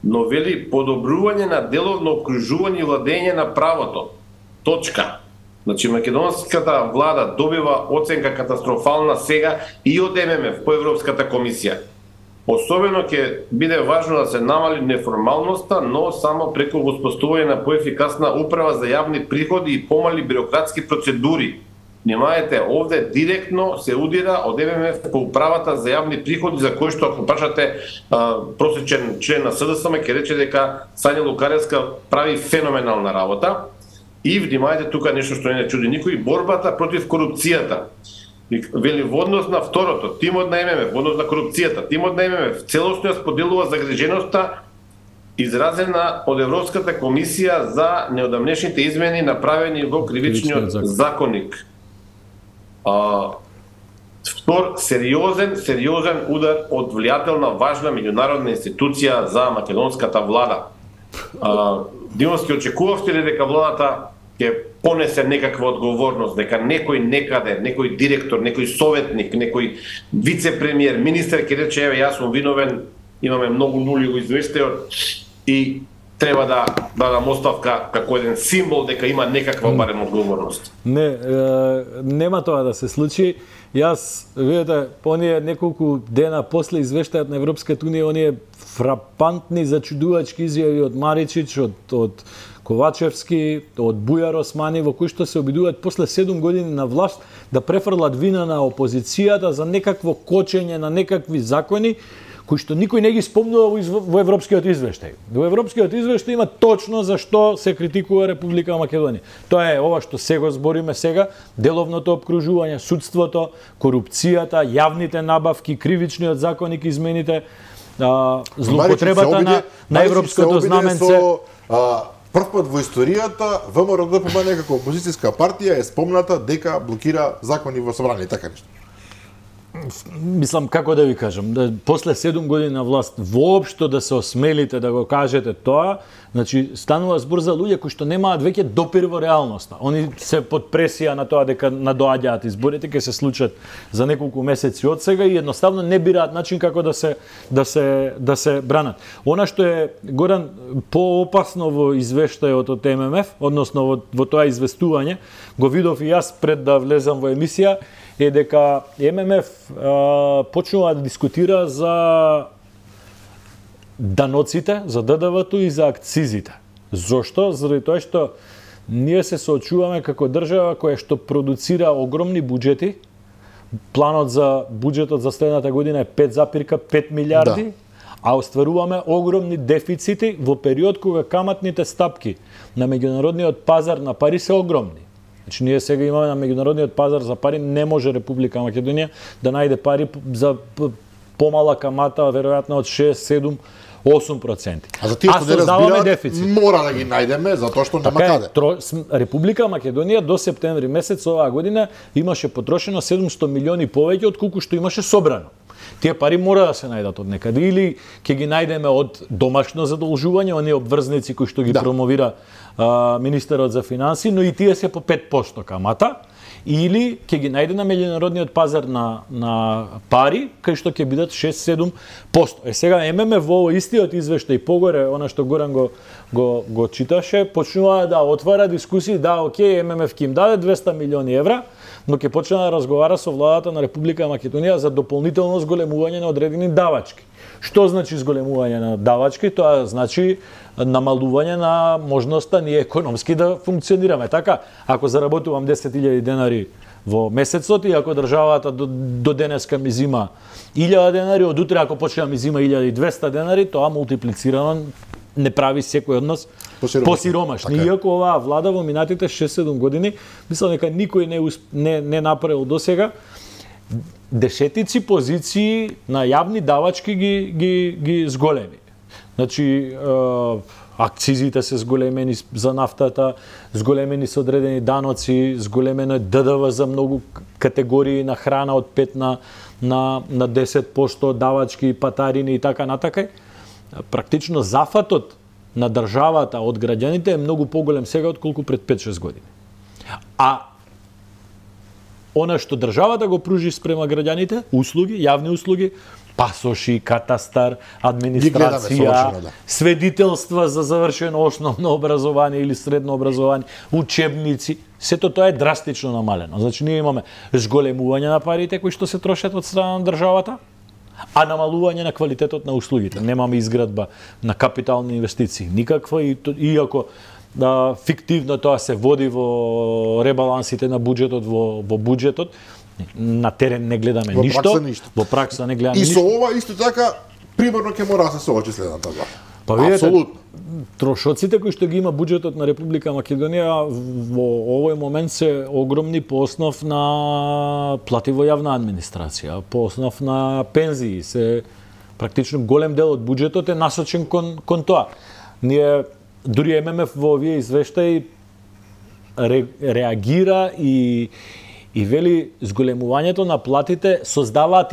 но вели подобрување на деловно окружување и владење на правото. Точка. Значи, македонската влада добива оценка катастрофална сега и од ММФ по Европската комисија. Особено ќе биде важно да се намали неформалноста, но само преку воспоставување на поефикасна управа за јавни приходи и помали бирократски процедури. Внимајте, овде директно се удира од ММФ по управата за јавни приходи, за кој што ако прашате просечен член на СДСМ ќе рече дека Сања Лукаревска прави феноменална работа. И внимајте тука нешто што не чуди никој, борбата против корупцијата. Вели во однос на второто, тимот на ММФ, во однос на корупцијата, тимот на ММФ целосно ја споделува загриженоста изразена од Европската комисија за неодамнешните измени направени во кривичниот законник. Втор сериозен удар од влијателна важна меѓународна институција за македонската влада. Димовски, очекувавте ли дека владата ќе понесе некаква одговорност, дека некој некаде, некој директор, некој советник, некој вице-премиер, министер ќе рече, еве, јас сум виновен, имаме многу нули во извештајот и треба да дадам оставка како еден символ дека има некаква барем одговорност? Нема тоа да се случи. Јас, видите, оние неколку дена после извештајот на Европската унија, оние фрапантни, зачудувачки изјави од Маричич, од Ковачевски, од Бујар Османи, во кои што се обидуваат после 7 години на власт да префрлат вина на опозицијата за некакво кочење на некакви закони, кои што никој не ги спомнува во европскиот извештај. Во европскиот извештај има точно за што се критикува Република Македонија. Тоа е ова што сега збориме сега, деловното опкружување, судството, корупцијата, јавните набавки, кривичниот законник, измените, злоупотребата на европското знаменце. Првпат во историјата ВМРО-ДПМН како опозицијска партија е спомната дека блокира закони во собрание, така нешто. Мислам, како да ви кажам, да после 7 години на власт воопшто да се осмелите да го кажете тоа, значи станува збор за луѓе кои што немаат веќе допир во реалноста. Они се под пресија на тоа дека надоаѓаат изборите, ќе се случат за неколку месеци од сега и едноставно не бираат начин како да се бранат. Она што е, Горан, поопасно во извештајот од ММФ, односно во тоа известување, го видов и јас пред да влезам во емисија, е дека ММФ почнува да дискутира за даноците, за ДДВ-то и за акцизите. Зошто? Заради тоа што ние се соочуваме како држава која што продуцира огромни буџети. Планот за буџетот за следната година е 5,5 милиарди, а остваруваме огромни дефицити во период кога каматните стапки на меѓународниот пазар на пари се огромни. Значи, ние сега имаме на меѓународниот пазар за пари, не може Република Македонија да најде пари за помала камата, веројатно од 6, 7, 8%. А за тие што не разбираат, дефицит. Мора да ги најдеме, затоа што нема каде. Република Македонија до септември месец оваа година имаше потрошено 700 милиони повеќе од колку што имаше собрано. Тие пари мора да се најдат од некаде, или ќе ги најдеме од домашно задолжување, оние обврзници кои што ги промовира министерот за финансии, но и тие се по 5% камата, или ќе ги најде на меѓународниот пазар на пари, кај што ќе бидат 6-7%. Сега ММФ во истиот извештај погоре, она што Горан го читаше, почнува да отвара дискусии, да, окей, ММФ ќе им даде 200 милиони евра, но ќе почне да разговара со владата на Република Македонија за дополнително зголемување на одредени давачки. Што значи зголемување на давачки? Тоа значи намалување на можноста ние економски да функционираме. Така, ако заработувам 10.000 денари во месецот и ако државата до денеска ми зима 1.000 денари, од утре ако почне да ми зима 1.200 денари, тоа мултиплицирано не прави секој од нас посиромашни. Така. Иако оваа влада во минатите 6-7 години, мислам дека никој не направил досега, десетици позиции на јавни давачки ги зголеми. Значи, акцизите се зголемени за нафтата, зголемени се одредени даноци, зголемено е ДДВ за многу категории на храна од 5 на 10%, давачки, патарини и така натака. Практично зафатот на државата од граѓаните е многу поголем сега отколку пред 5-6 години. А она што државата го пружи спрема граѓаните, услуги, јавни услуги, пасоши, катастар, администрација, сведителства за завршено основно образование или средно образование, учебници, сето тоа е драстично намалено. Значи ние имаме зголемување на парите кои што се трошат од страна на државата, а намалување на квалитетот на услугите. Немаме изградба на капитални инвестиции, никаква, иако фиктивно тоа се води во ребалансите на буџетот, во буџетот, на терен не гледаме ништо, во пракса не гледаме ништо. И со ова исто така примерно ќе мора да се соочи следната власт. Па видите, трошоците кои што ги има буџетот на Република Македонија во овој момент се огромни по основ на плати во јавна администрација, по основ на пензии, се практично голем дел од буџетот е насочен кон тоа. Ние дури ММФ во овие извештаи реагира и вели зголемувањето на платите создаваат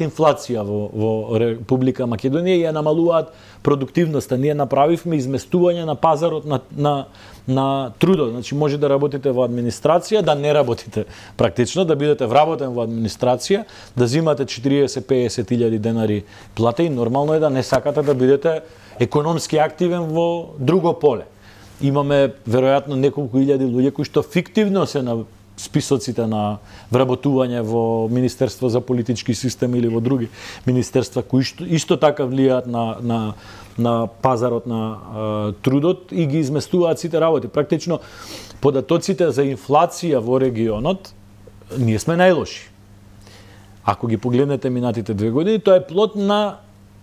инфлација во Република Македонија и ја намалуваат продуктивноста. Ние направивме изместување на пазарот на трудот. Значи може да работите во администрација, да не работите практично, да бидете вработен во администрација, да зимате 40-50 илјади денари плата и нормално е да не сакате да бидете економски активен во друго поле. Имаме веројатно неколку илјади луѓе кои што фиктивно се на списоците на вработување во Министерство за политички систем или во други министерства кои исто така влијаат на пазарот на трудот и ги изместуваат сите работи. Практично податоците за инфлација во регионот ние сме најлоши. Ако ги погледнете минатите 2 години, тоа е плод на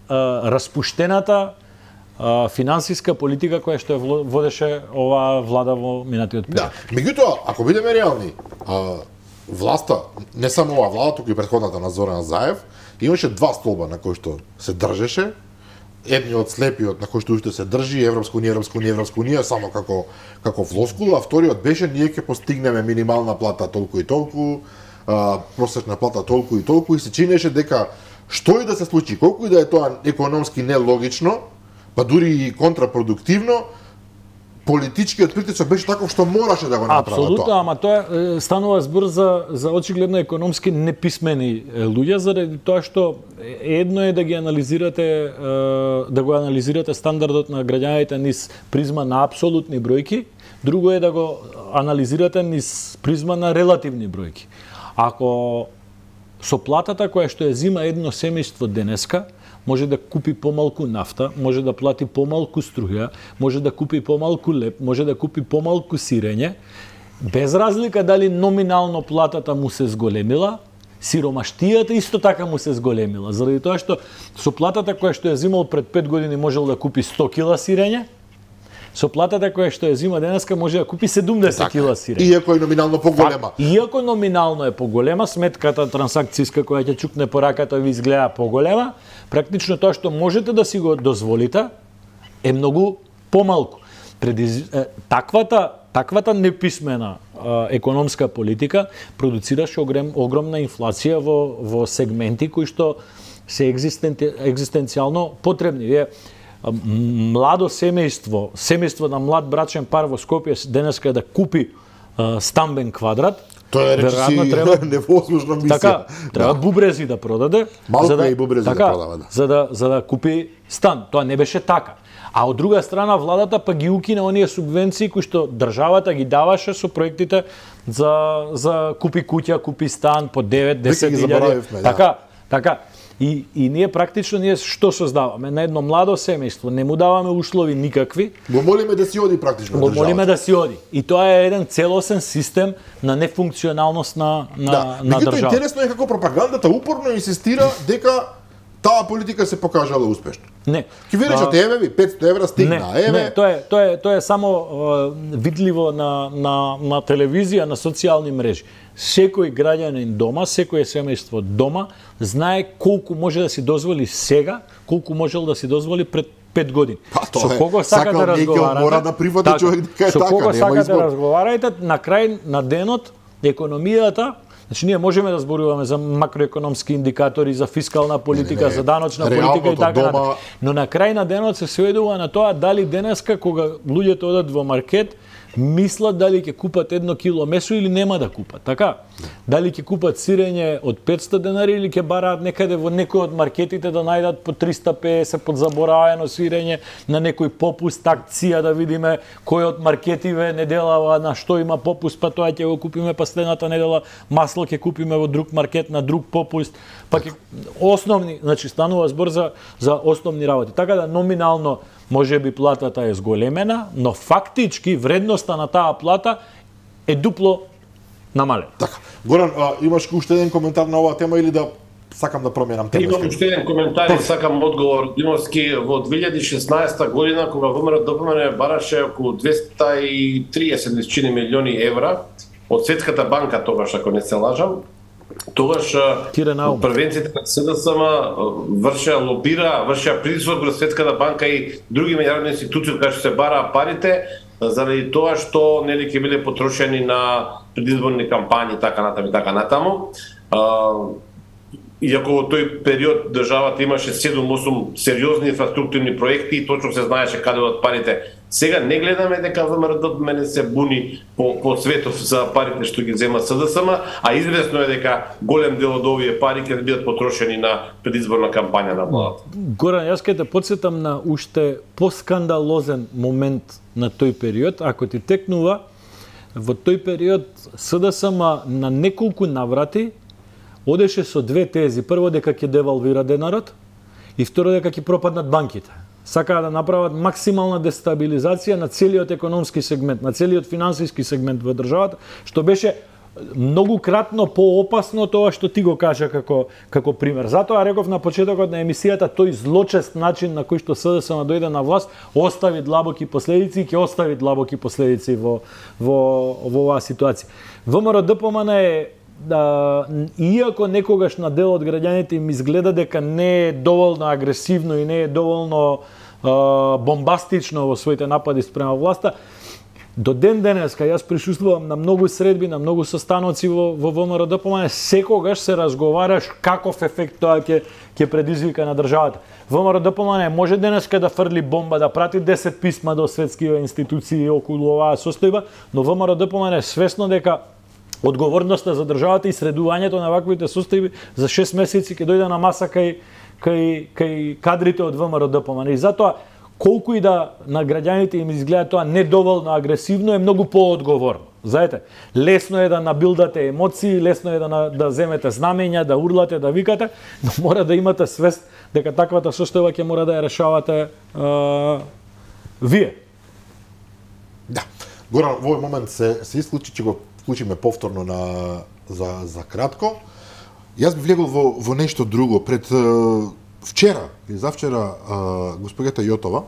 распуштената финансиска политика која што водеше оваа влада во минатиот период. Да, меѓутоа, ако бидеме реални, власта, не само оваа влада, туку и претходната на Зоран Заев, имаше 2 столба на кои што се држеше. Едниот слепиот на кој што уште се држи Европска унија само како флоскула, а вториот беше ние ќе постигнеме минимална плата толку и толку, просечна плата толку и се чинеше дека што и да се случи, колку и да е тоа економски нелогично, па дури и контрапродуктивно, политичкиот притисок беше таков што мораше да го направи тоа. Апсолутно, ама тоа станува збор за очигледно економски неписмени луѓе, заради тоа што едно е да ги анализирате, да го анализирате стандардот на граѓаните низ призма на апсолутни бројки, друго е да го анализирате низ призма на релативни бројки. Ако со платата која што ја зима едно семејство денеска, може да купи помалку нафта, може да плати помалку струја, може да купи помалку леп, може да купи помалку сирење, без разлика дали номинално платата му се зголемила, сиромаштијата исто така му се зголемила, заради тоа што со платата која што ја зимал пред 5 години можел да купи 100 кила сирење, со платата која што ја зима денеска може да купи 70 кила сирење. Иако е номинално поголема. Иако номинално е поголема, сметката трансакцијска која ќе чукне по раката ви изгледа поголема, практично тоа што можете да си го дозволите е многу помалку. Таквата неписмена економска политика продуцираше огромна инфлација во сегменти кои што се екзистенцијално потребни. Младо семејство на млад брачен пар во Скопје денеска да купи стамбен квадрат, тоа е речиси невозможна мисија. Така, треба бубрези да продаде, малку и бубрези да продава, за да купи стан. Тоа не беше така. А од друга страна владата па ги укина оние субвенции кои што државата ги даваше со проектите за купи куќа, купи стан по 9-10 000. Така. И ние практично што создаваме? На едно младо семејство не му даваме услови никакви. Го молиме да си оди практично. Го молиме да си оди. И тоа е еден целосен систем на нефункционалност на држава. Интересно е како пропагандата упорно инсистира дека таа политика се покажала успешна. Не. Ки ви речат, еве ви 500 евра стигна, еве. Не, тоа е само видливо на телевизија, на социјални мрежи. Секој граѓанин дома, секој семејство дома знае колку може да си дозволи сега, колку можел да си дозволи пред 5 години. Со кого сакате да разговарате? Мора да прифати човек дека е така, нема избор. Со кого сакате да разговараете, на крај на денот економијата. Значи, ние можеме да зборуваме за макроекономски индикатори, за фискална политика, за даночна политика и така натаму. Но на крај на денот се сведува на тоа дали денеска, кога луѓето одат во маркет, мислат дали ќе купат 1 кило месо или нема да купат, така? Дали ќе купат сирење од 500 денари или ќе бараат некаде во некој од маркетите да најдат по 350 под заборавено сирење на некој попуст, акција, да видиме кој од маркетиве неделава на што има попуст, па тоа ќе го купиме, па следната недела масло ќе купиме во друг маркет на друг попуст, па ќе основни, значи станува збор за основни работи. Така да номинално може би платата е зголемена, но фактички вредноста на таа плата е дупло намалена. Така. Горан, имаш уште еден коментар на оваа тема или да сакам да променам тема? Имам уште еден коментар и сакам одговор. Димовски, во 2016 година, кога ВМРО бараше околу 230 милиони евра од Светската банка, тогаш, ако не се лажам, тогаш првенците на СДСМ вршеа притисок врз Светската банка и други меѓународни институции кај што се бараа парите, заради тоа што нели ќе биле потрошени на предизборни кампањи, така натаму. Иако во тој период државата имаше 7-8 сериозни инфраструктурни проекти и точно се знаеше каде од парите. Сега не гледаме дека ВМРО се буни по светов за парите што ги зема СДСМ, а известно е дека голем дел од овие пари ќе бидат потрошени на предизборна кампања на владата. Горан, јас ќе те потсетам на уште поскандалозен момент на тој период, ако ти текнува, во тој период СДСМ на неколку наврати одеше со две тези. Прво дека ќе девалвира денарот и второ дека ќе пропаднат банките. Сакаа да направат максимална дестабилизација на целиот економски сегмент, на целиот финансиски сегмент во државата, што беше многукратно поопасно тоа што ти го кажа како пример. Затоа реков на почетокот на емисијата, тој злочест начин на кој што СДСМ дојде на власт остави длабоки последици и ќе остави длабоки последици во оваа ситуација. ВМРО-ДПМН е иако некогаш на дел од граѓаните им изгледа дека не е доволно агресивно и не е доволно бомбастично во своите напади спрема власта, До ден денеска јас присуствувам на многу средби, на многу состаноци во ВМРО-ДПМН, секогаш се разговараш каков ефект тоа ќе предизвика на државата. ВМРО-ДПМН може денеска да фрли бомба, да прати 10 писма до светските институции околу оваа состојба, но ВМРО-ДПМН е свесно дека одговорноста за државата и средувањето на ваквите состојби за 6 месеци ќе дојде на маса кај кадрите од ВМРО-ДПМН. И затоа колку и да на граѓаните им изгледа тоа недоволно агресивно, е многу поодговорно. Знаете, лесно е да набилдате емоции, лесно е да земете знамења, да урлате, да викате, но мора да имате свест дека таквата состојба ќе мора да ја решавате вие. Да. Горан, во овој момент се исклучи, ќе го вклучиме повторно за кратко. Јас би влегол во нешто друго. Пред вчера или завчера госпогата Јотова,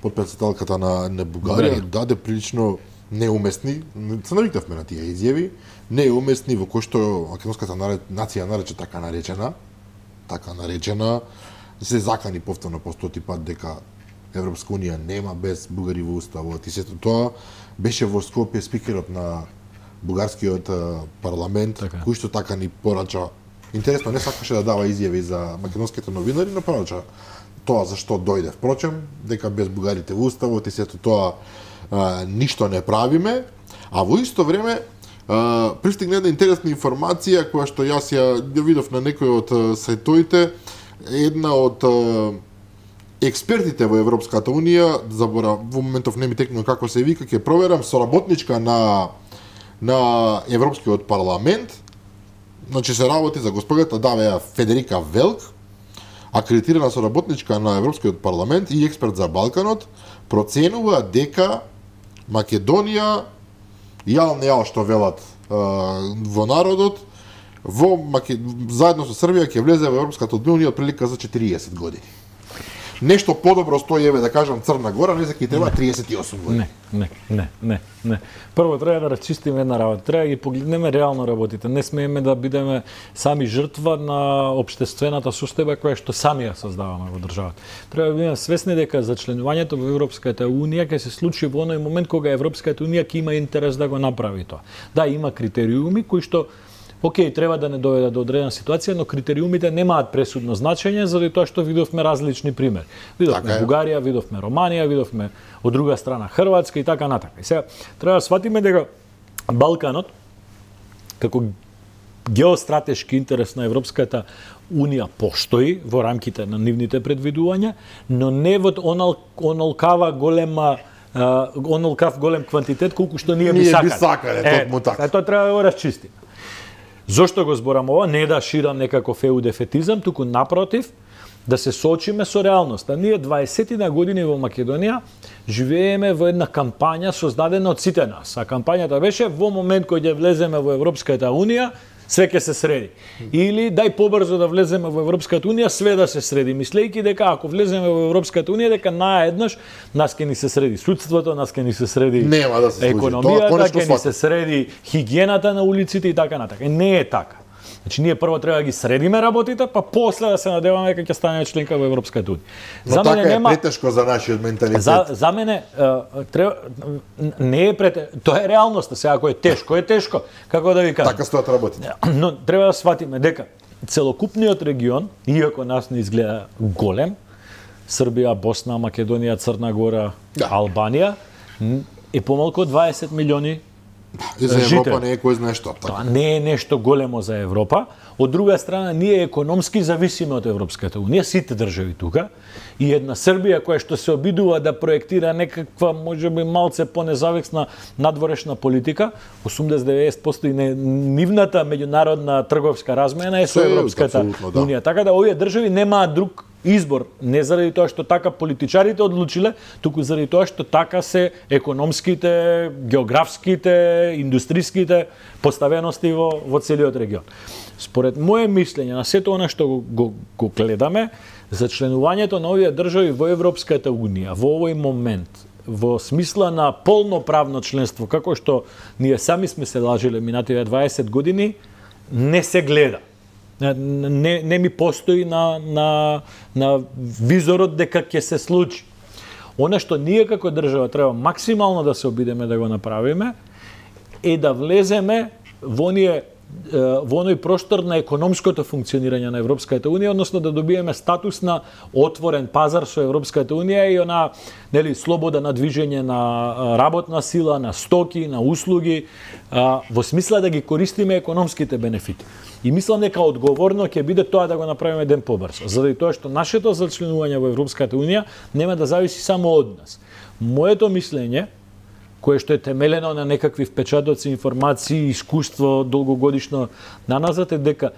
подпредседателката на Бугарија, даде прилично неуместни, се навикнавме на тие изјави, неуместни во кои што македонската нација нарече така наречена, се закани повторно по 100 пат дека Европска унија нема без бугари во уставот и сето тоа беше во Скопје спикерот на бугарскиот парламент, кој што така ни порача. Интересно, не сакаше да дава изјави за македонските новинари, но порача тоа зашто дојде. Впрочем, дека без бугарите во уставот и сето тоа ништо не правиме, а во исто време пристигна една интересна информација која што јас ја видов на некој од сајтоите, една од експертите во Европската унија, во моментов не ми текнува како се вика, ќе проверам, соработничка на Европскиот парламент, значи се работи за госпогата Давеја Федерика Велк, акредитирана соработничка на Европскиот парламент и експерт за Балканот, проценува дека Македонија, јал што велат во народот, заедно со Србија ќе влезе во Европската унија отприлика за 40 години. Нешто подобро стои, еве да кажам, Црна Гора, не ќе треба 38 години. Не. Прво треба да расчистиме една работа. Треба да ги погледнеме реално работите. Не смееме да бидеме сами жртва на општествената состојба која што сами ја создаваме во државата. Треба да бидеме свесни дека за членувањето во Европската унија ќе се случи во оној момент кога Европската унија ќе има интерес да го направи тоа. Да, има критериуми кои што океј, треба да не доведат до одредена ситуација, но критериумите немаат пресудно значење, заради тоа што видовме различни примери. Видовме Бугарија, видовме Романија, видовме од друга страна Хрватска и така натака. И сега треба да сватиме дека Балканот како геостратешки интерес на Европската унија постои во рамките на нивните предвидувања, но не во онолкав голем квантитет колку што ние би сакале. Тоа треба да го расчистиме. Зошто го зборам ова? Не да ширам некаков еудефетизам, туку напротив, да се соочиме со реалноста. Ние 20 години во Македонија живееме во една кампања создадена од сите нас. А кампањата беше во момент кој ќе влеземе во Европската унија, све ќе се среди. Или дај побрзо да влеземе во Европската унија, све да се среди, мислејќи дека ако влеземе во Европската унија, дека наеднаш нас ќе ни се среди судството, нас ќе ни се среди економијата, ќе ни се среди хигиената на улиците и така натака. Не е така. Значи ние прво треба да ги средиме работите, па после да се надеваме дека ќе станеме членка во Европската унија. Но така е претешко за нашиот менталитет. За мене не е тоа е реалноста. Сега ако е тешко, како да ви кажам. Така стоат работите. Но треба да сватиме дека целокупниот регион, иако нас не изгледа голем, Србија, Босна, Македонија, Црна Гора, Албанија, е помалку од 20 милиони. И за Европа не е кој знае што. Тоа не е нешто големо за Европа. Од друга страна, ние економски зависиме од Европската унија, сите држави тука, и една Србија која што се обидува да проектира некаква, можеби малце понезависна надворешна политика, 80-90% и нивната меѓународна трговска размена е со Европската унија. Така да овие држави немаат друг избор, не заради тоа што така политичарите одлучиле, туку заради тоа што така се економските, географските, индустриските поставености во целиот регион. Според мое мислење, на сето она што го гледаме, за членувањето на овие држави во Европската унија, во овој момент, во смисла на полноправно членство, како што ние сами сме се лажиле минативе 20 години, не се гледа. Не ми постои на визорот дека ќе се случи. Она што ние како држава треба максимално да се обидеме да го направиме е да влеземе во оној простор на економското функционирање на Европската Унија, односно да добиеме статус на отворен пазар со Европската Унија и она, нели, слобода на движење на работна сила, на стоки, на услуги, во смисла да ги користиме економските бенефити. И мислам дека одговорно ќе биде тоа да го направиме ден побрзо, заради тоа што нашето зачленување во Европската Унија нема да зависи само од нас. Моето мислење, кое што е темелено на некакви впечатоци, информации, искуство долгогодишно наназад, е дека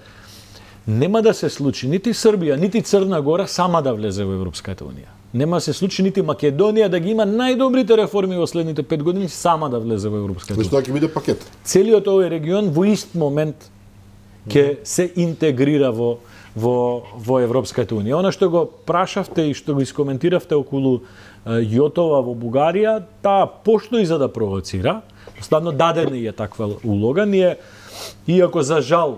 нема да се случи нити Србија, нити Црна Гора сама да влезе во Европската Унија. Нема да се случи нити Македонија да ги има најдобрите реформи во следните 5 години сама да влезе во Европската Унија. Тоа ќе биде пакет. Целиот овој регион во ист момент ќе се интегрира во Европската Унија. Она што го прашавте и што го искоментиравте околу Јотова во Бугарија, таа пошто и за да провоцира, ставно дадена е таква улога. Ние, иако за жал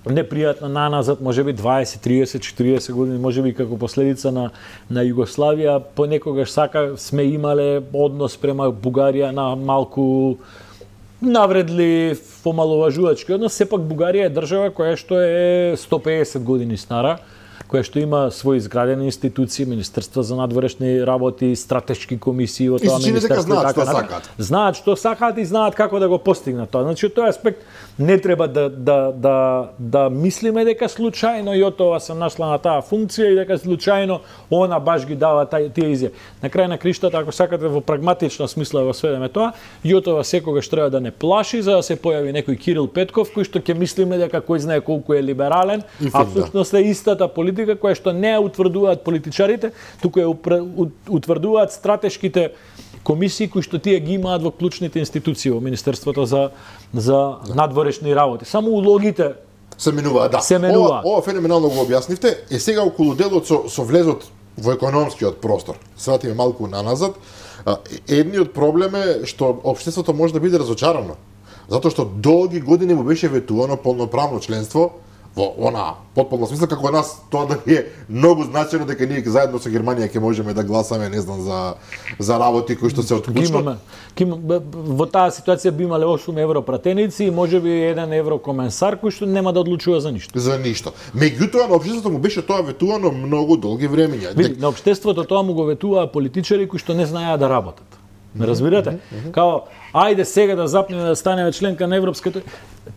непријатно наназад, можеби 20, 30, 40 години, можеби како последица на Југославија, понекогаш сме имале однос према Бугарија на малку навредлив, помаловажувачки однос. Сепак Бугарија е држава која што е 150 години стара, која што има своји изградени институции, Министерство за надворешни работи, стратешки комисии во тоа министерство. Знаат што сакаат. Знаат што сакаат и знаат како да го постигнат тоа. Значи, од тој аспект не треба да мислиме дека случајно Јотова се нашла на таа функција и дека случајно она баш ги дава тие изјави. На крај на криштата, ако сакате во прагматична смисла да го сведеме тоа, Јотова секогаш треба да не плаши за да се појави некој Кирил Петков кој што ќе мислиме дека кој знае колку е либерален, апсолутно е истата политика која што не ја утврдуваат политичарите, туку ја утврдуваат стратешките комисии кои што тие ги имаат во клучните институции во Министерството за надворешни работи. Само улогите се менуваат, да. Се менуваат. Ова феноменално го објаснивте. Е сега околу делот со влезот во економскиот простор. Се вратиме малку наназад. Едниот проблем е што општеството може да биде разочарано. Затоа што долги години му беше ветувано полноправно членство во она потполна смисла, како нас тоа да е многу значајно дека ние заедно со Германија ќе можеме да гласаме, не знам, за работи кои што се од клучно. Во таа ситуација би имале 8 европратеници и можеби 1 еврокоменсар кој што нема да одлучува за ништо. За ништо. Меѓутоа на општеството му беше тоа ветувано многу долги времиња. Види, на општеството тоа му го ветуваа политичари кои што не знаеа да работат. Ме разбирате? Као, ајде сега да запнеме да станеме членка на Европската.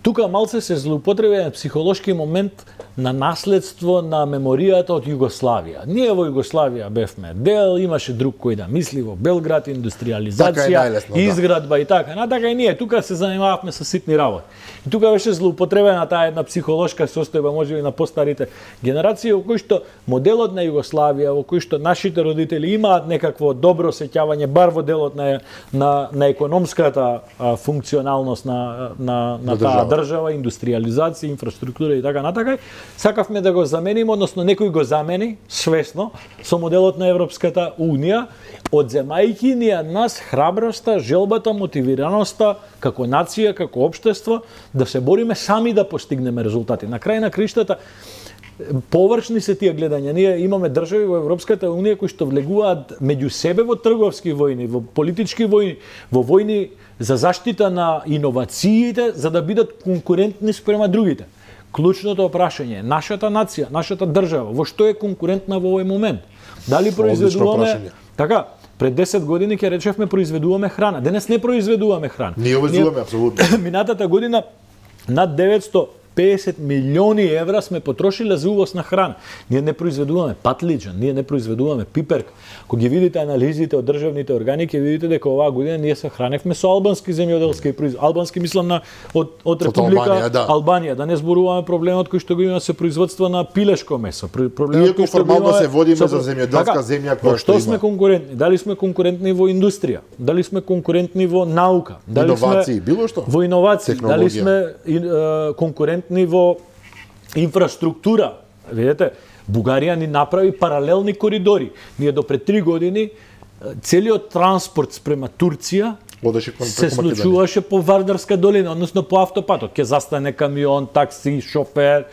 Тука малце се злоупотреби психолошки момент на наследство на меморијата од Југославија. Ние во Југославија бевме дел, имаше друг кој да мисли во Белград, индустриализација, изградба и така. Натака и ние тука се занимававме со ситни работи. И тука беше злоупотребена таа една психолошка состојба можеби на постарите генерации во кој што моделот на Југославија, во кој што нашите родители имаат некакво добро сеќавање бар во делот на економската функционалност на таа држава, индустриализација, инфраструктура и така натака. Сакавме да го замениме, односно некој го замени свесно со моделот на Европската Унија, одземајќи ни од нас храброста, желбата, мотивираноста како нација, како општество да се бориме сами да постигнеме резултати. На крај на криштата површни се тие гледања. Ние имаме држави во Европската Унија кои што влегуваат меѓу себе во трговски војни, во политички војни, во војни за заштита на иновациите, за да бидат конкурентни спрема другите. Клучното прашање е нашата нација, нашата држава, во што е конкурентна во овој момент? Дали произведуваме... Така, пред 10 години ќе речевме произведуваме храна. Денес не произведуваме храна. Ние увезуваме апсолутно. Минатата година над 950 милиони евра сме потрошиле за увоз на храна. Ние не произведуваме патлиџан, ние не произведуваме пиперка. Кога ги видите анализите од државните органи, ќе видите дека оваа година ние се храневме со албански земјоделски производ. Албански мислам од Република Албанија, да не зборуваме проблемот кој што го има со производство на пилешко месо. Проблемот кој што формално се водиме за земјоделска земја која што има. Што сме конкурентни? Дали сме конкурентни во индустрија? Дали сме конкурентни во наука? Дали иновации, било што? Во иновации, дали сме конкурентни во инфраструктура? Видете, Бугарија ни направи паралелни коридори. Ние до пред 3 години целиот транспорт спрема Турција се случуваше по Вардарска долина, односно по автопатот. Ке застане камион, такси, шофер,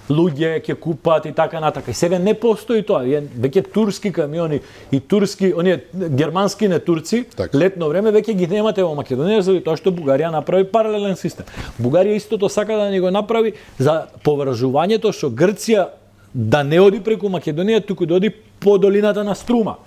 луѓе ќе купат и така натака. И сега не постои тоа. Веќе турски камиони и турски, оние германски не турци, летно време веќе ги немате во Македонија заради тоа што Бугарија направи паралелен систем. Бугарија истото сака да ни го направи за поврзувањето со Грција да не оди преку Македонија, туку да оди по долината на Струма.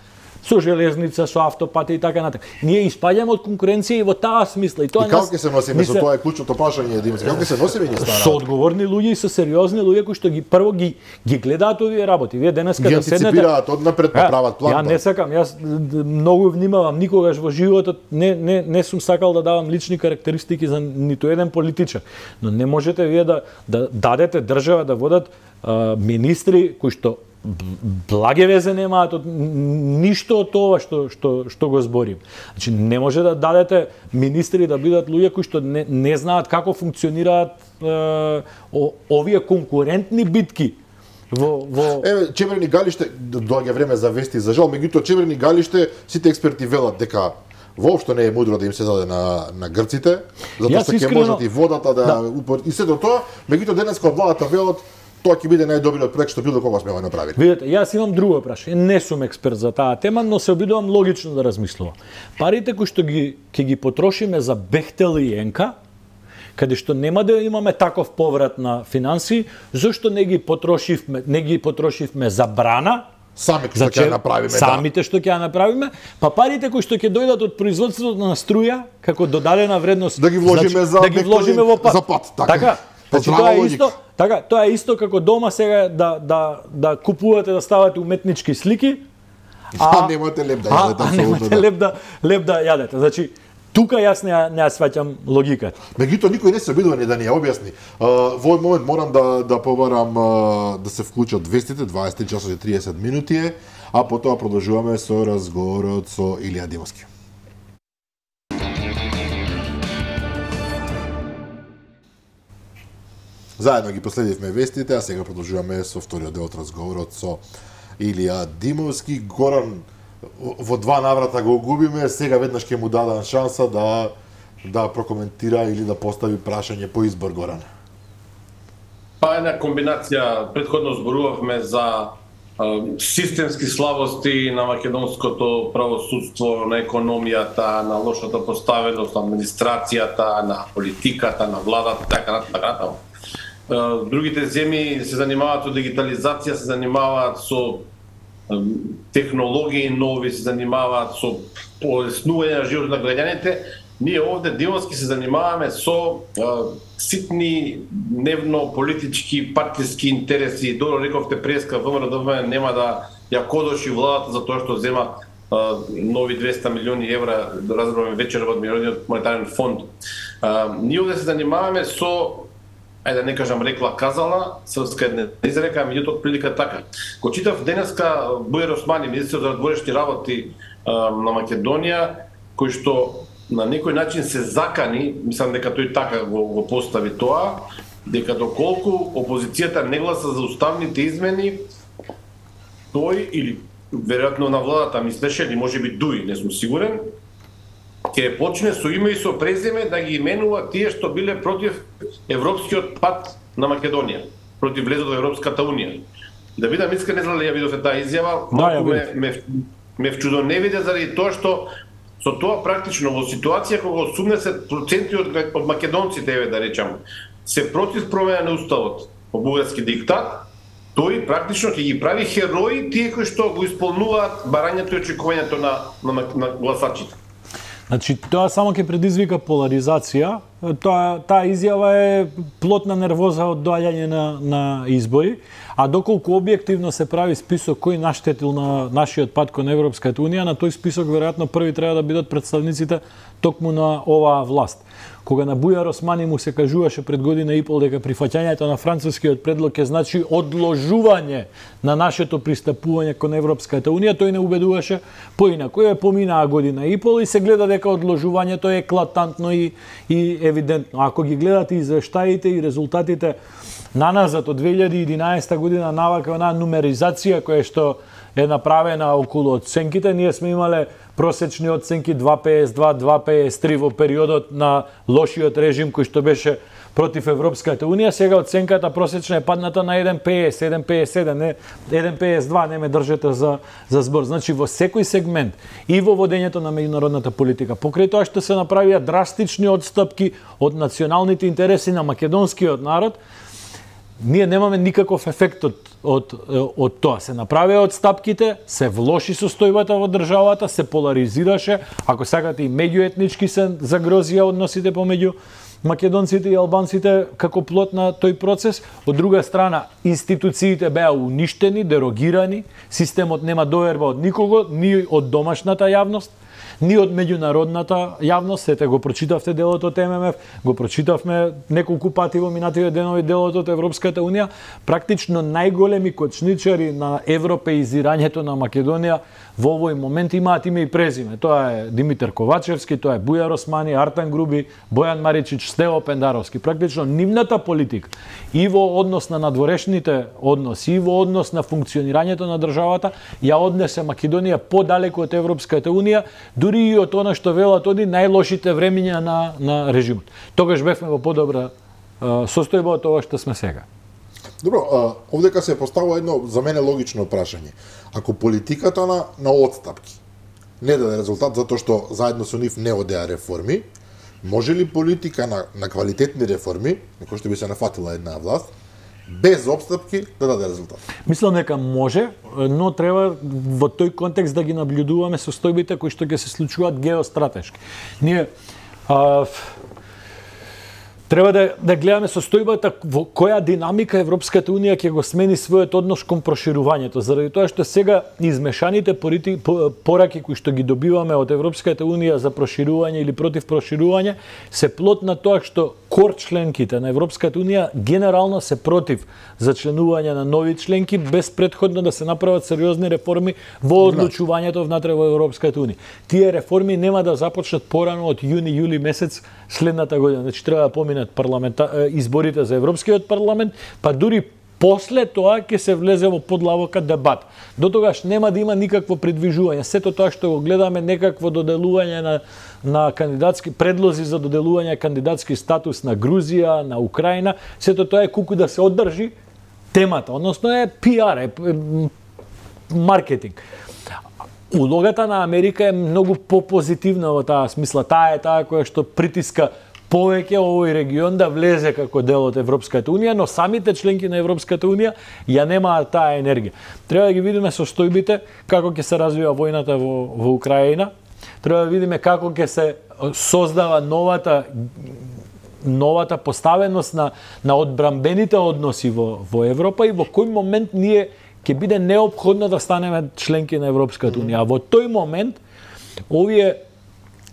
Со железница, со автопати и така натака. Ние испаѓаме од конкуренција и во таа смисла. И како ќе се носиме со тоа е клучното прашање, Димос? Како ќе се носиме ние станат? Со одговорни луѓе и со сериозни луѓе кои што прво ги гледаат овие работи. Вие денеска да седнете, антиципираат однапред, прават план. Ја не сакам, јас многу внимавам, никогаш во животот не сум сакал да давам лични карактеристики за ниту еден политичар. Но не можете вие да дадете држава да водат министри кои што благе везе немаат од ништо од тоа што го зборим. Значи не може да дадете министри да бидат луѓе кои што не знаат како функционираат овие конкурентни битки во Еве Чемерни Галиште доаѓа време за вести за жал, меѓутоа Чемерни Галиште сите експерти велат дека воопшто не е мудро да им се даде на грците, затоа што ќе можат и водата и сето тоа, меѓутоа денеска од владата велат тоа ќе биде најдобриот проект што било кога сме го направили. Видете, јас имам друго прашање. Не сум експерт за таа тема, но се обидувам логично да размислувам. Парите кои што ќе ги потрошиме за Бехтел и Енка, каде што нема да имаме таков поврат на финанси, зошто не ги потрошивме за брана? Самите што ќе направиме, самите што ќе направиме, па парите кои што ќе дојдат од производството на струја како додадена вредност, да ги вложиме за пат, така. Значи, тоа е исто како дома сега да купувате, да ставате уметнички слики, а немате леп да јадете. Немате леп да јадете. Значи, тука јас не сваќам логиката. Меѓутоа никој не се обидува да ни ја објасни. Во овој момент морам да побарам да се вклучат вестите, 20 часот и 30 минути а потоа продолжуваме со разговорот со Илија Димовски. Заедно ги последивме вестите, а сега продолжуваме со вториот дел од разговорот со Илија Димовски. Горан во два наврата го губиме, сега веднаш ќе му дадам шанса да прокоментира или да постави прашање по избор, Горан. Па една комбинација, претходно зборувавме за системски слабости на македонското правосудство, на економијата, на лошата поставеност, на администрацијата, на политиката, на владата, така натаму. Другите земји се занимаваат со дигитализација, се занимаваат со технологии нови, се занимаваат со полеснување на животот на граѓаните. Ние овде Димовски се занимаваме со ситни дневно политички, партиски интереси. Добро рековте преска, ВМРО нема да ја кодоши владата за тоа што зема нови 200 милиони евра, да разбераме вечер од Меѓународниот монетарен фонд. Ние овде се занимаваме со, ајде да не кажам рекла казала, српска една изрека, меѓутоа прилика така. Го читав денеска Бујар Османи, министер за надворешни работи на Македонија, кој што на некој начин се закани, мислам дека тој така го постави тоа, дека доколку опозицијата не гласа за уставните измени, тој или веројатно на владата мислеше, или можеби Дуи, не сум сигурен, ќе почне со име и со презиме да ги именува тие што биле против европскиот пат на Македонија, против влезот во Европската унија. Да видам искрен, не знам ли ја видовте таа изјава, малку ме вчудоневиде заради тоа што со тоа практично во ситуација кога 80% од македонците, еве да речам, се против промена на уставот по бугарски диктат, тој практично ќе ги прави херои тие кои што го исполнуваат барањето и очекувањето на гласачите. Значи, тоа само ќе предизвика поларизација. Таа изјава е плод на нервоза од доаѓање на избори, а доколку објективно се прави список кој наштетил на нашиот пат кон Европската унија, на тој список веројатно први треба да бидат представниците токму на оваа власт. Кога на Бујар Османи му се кажуваше пред година и пол дека прифаќањето на францускиот предлог ќе значи одложување на нашето пристапување кон Европската унија, тој не убедуваше поинаку. Поминаа година и пол и се гледа дека одложувањето е еклатантно и евидентно. Ако ги гледате извештаите и резултатите наназад од 2011 година, навака онаа нумеризација која што е направена околу оценките, ние сме имале просечни оценки 2,52, 2,53 во периодот на лошиот режим кој што беше против Европската унија, сега оценката просечна е падната на 1,50, 1,57, не 1,52, не ме држете за збор. Значи во секој сегмент и во водењето на меѓународната политика, покрај тоа што се направија драстични отстапки од националните интереси на македонскиот народ, ние немаме никаков ефект од тоа. Се направија отстапките, се влоши состојбата во државата, се поларизираше, ако сакате и меѓуетнички се загрозија односите помеѓу македонците и албанците како плод на тој процес. Од друга страна, институциите беа уништени, дерогирани, системот нема доверба од никого, ни од домашната јавност, ни од меѓународната јавност. Сете го прочитавте делот од ММФ, го прочитавме неколку пати во минативе денови делот од Европската унија. Практично најголеми кочничари на европеизирањето на Македонија во овој момент имаат име и презиме. Тоа е Димитар Ковачевски, тоа е Бујар Османи, Артан Груби, Бојан Маричич, Стево Пендаровски. Практично нивната политика и во однос на надворешните односи, и во однос на функционирањето на државата ја однесе Македонија подалеку од Европската унија, дури и од она што велат оди најлошите времиња на режимот. Тогаш бевме во подобра состојба од тоа што сме сега. Добро, овдека се поставува едно за мене логично прашање. Ако политиката на отстапки не даде резултат затоа што заедно со нив не одеа реформи, може ли политика на квалитетни реформи, на кои што би се нафатила една власт, без отстапки да даде резултат? Мислам дека може, но треба во тој контекст да ги наблюдуваме состојбите кои што ќе се случуваат геостратешки. Ние треба да гледаме состојбата во која динамика Европската унија ќе го смени својот однос кон проширувањето, заради тоа што сега измешаните пораки кои што ги добиваме од Европската унија за проширување или против проширување се плод на тоа што кор членките на Европската унија генерално се против за членување на нови членки без претходно да се направат сериозни реформи во одлучувањето внатре во Европската унија. Тие реформи нема да започнат порано од јуни-јули месец следната година. Значи треба да поминат изборите за Европскиот парламент, па дури после тоа ќе се влезе во подлабока дебат. До тогаш нема да има никакво придвижување. Сето тоа што го гледаме некакво доделување на кандидатски предлози за доделување кандидатски статус на Грузија, на Украина, сето тоа е куку да се одржи темата, односно е пиар, маркетинг. Улогата на Америка е многу попозитивна во таа смисла. Таа е таа која што притиска повеќе овој регион да влезе како дел од Европската унија, но самите членки на Европската унија ја немаат таа енергија. Треба да ги видиме состојбите како ќе се развива војната во Украина. Треба да видиме како ќе се создава новата поставеност на одбрамбените односи во Европа и во кој момент ние ќе биде неопходно да станеме членки на Европската унија. А во тој момент овие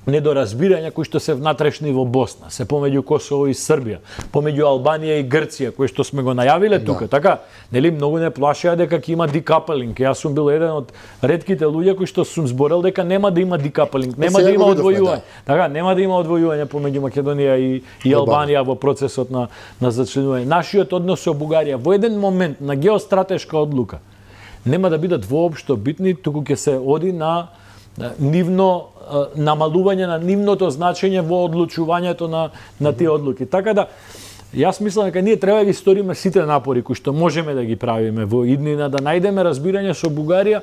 недоразбирања кои што се внатрешни во Босна, се помеѓу Косово и Србија, помеѓу Албанија и Грција, кои што сме го најавиле тука, така, нели многу не плашеа дека ќе има декаплинг. Јас сум бил еден од ретките луѓе кои што сум зборел дека нема да има декаплинг, нема да има одвојување. Така, нема да има одвојување помеѓу Македонија и Албанија во процесот на зачленување. Нашиот однос со Бугарија во еден момент на геостратешка одлука нема да бидат воопшто битни, туку ќе се оди на нивно намалување на нивното значење во одлучувањето на тие одлуки. Така да, јас мислам дека ние треба да ги сториме сите напори кои што можеме да ги правиме во иднина, да најдеме разбирање со Бугарија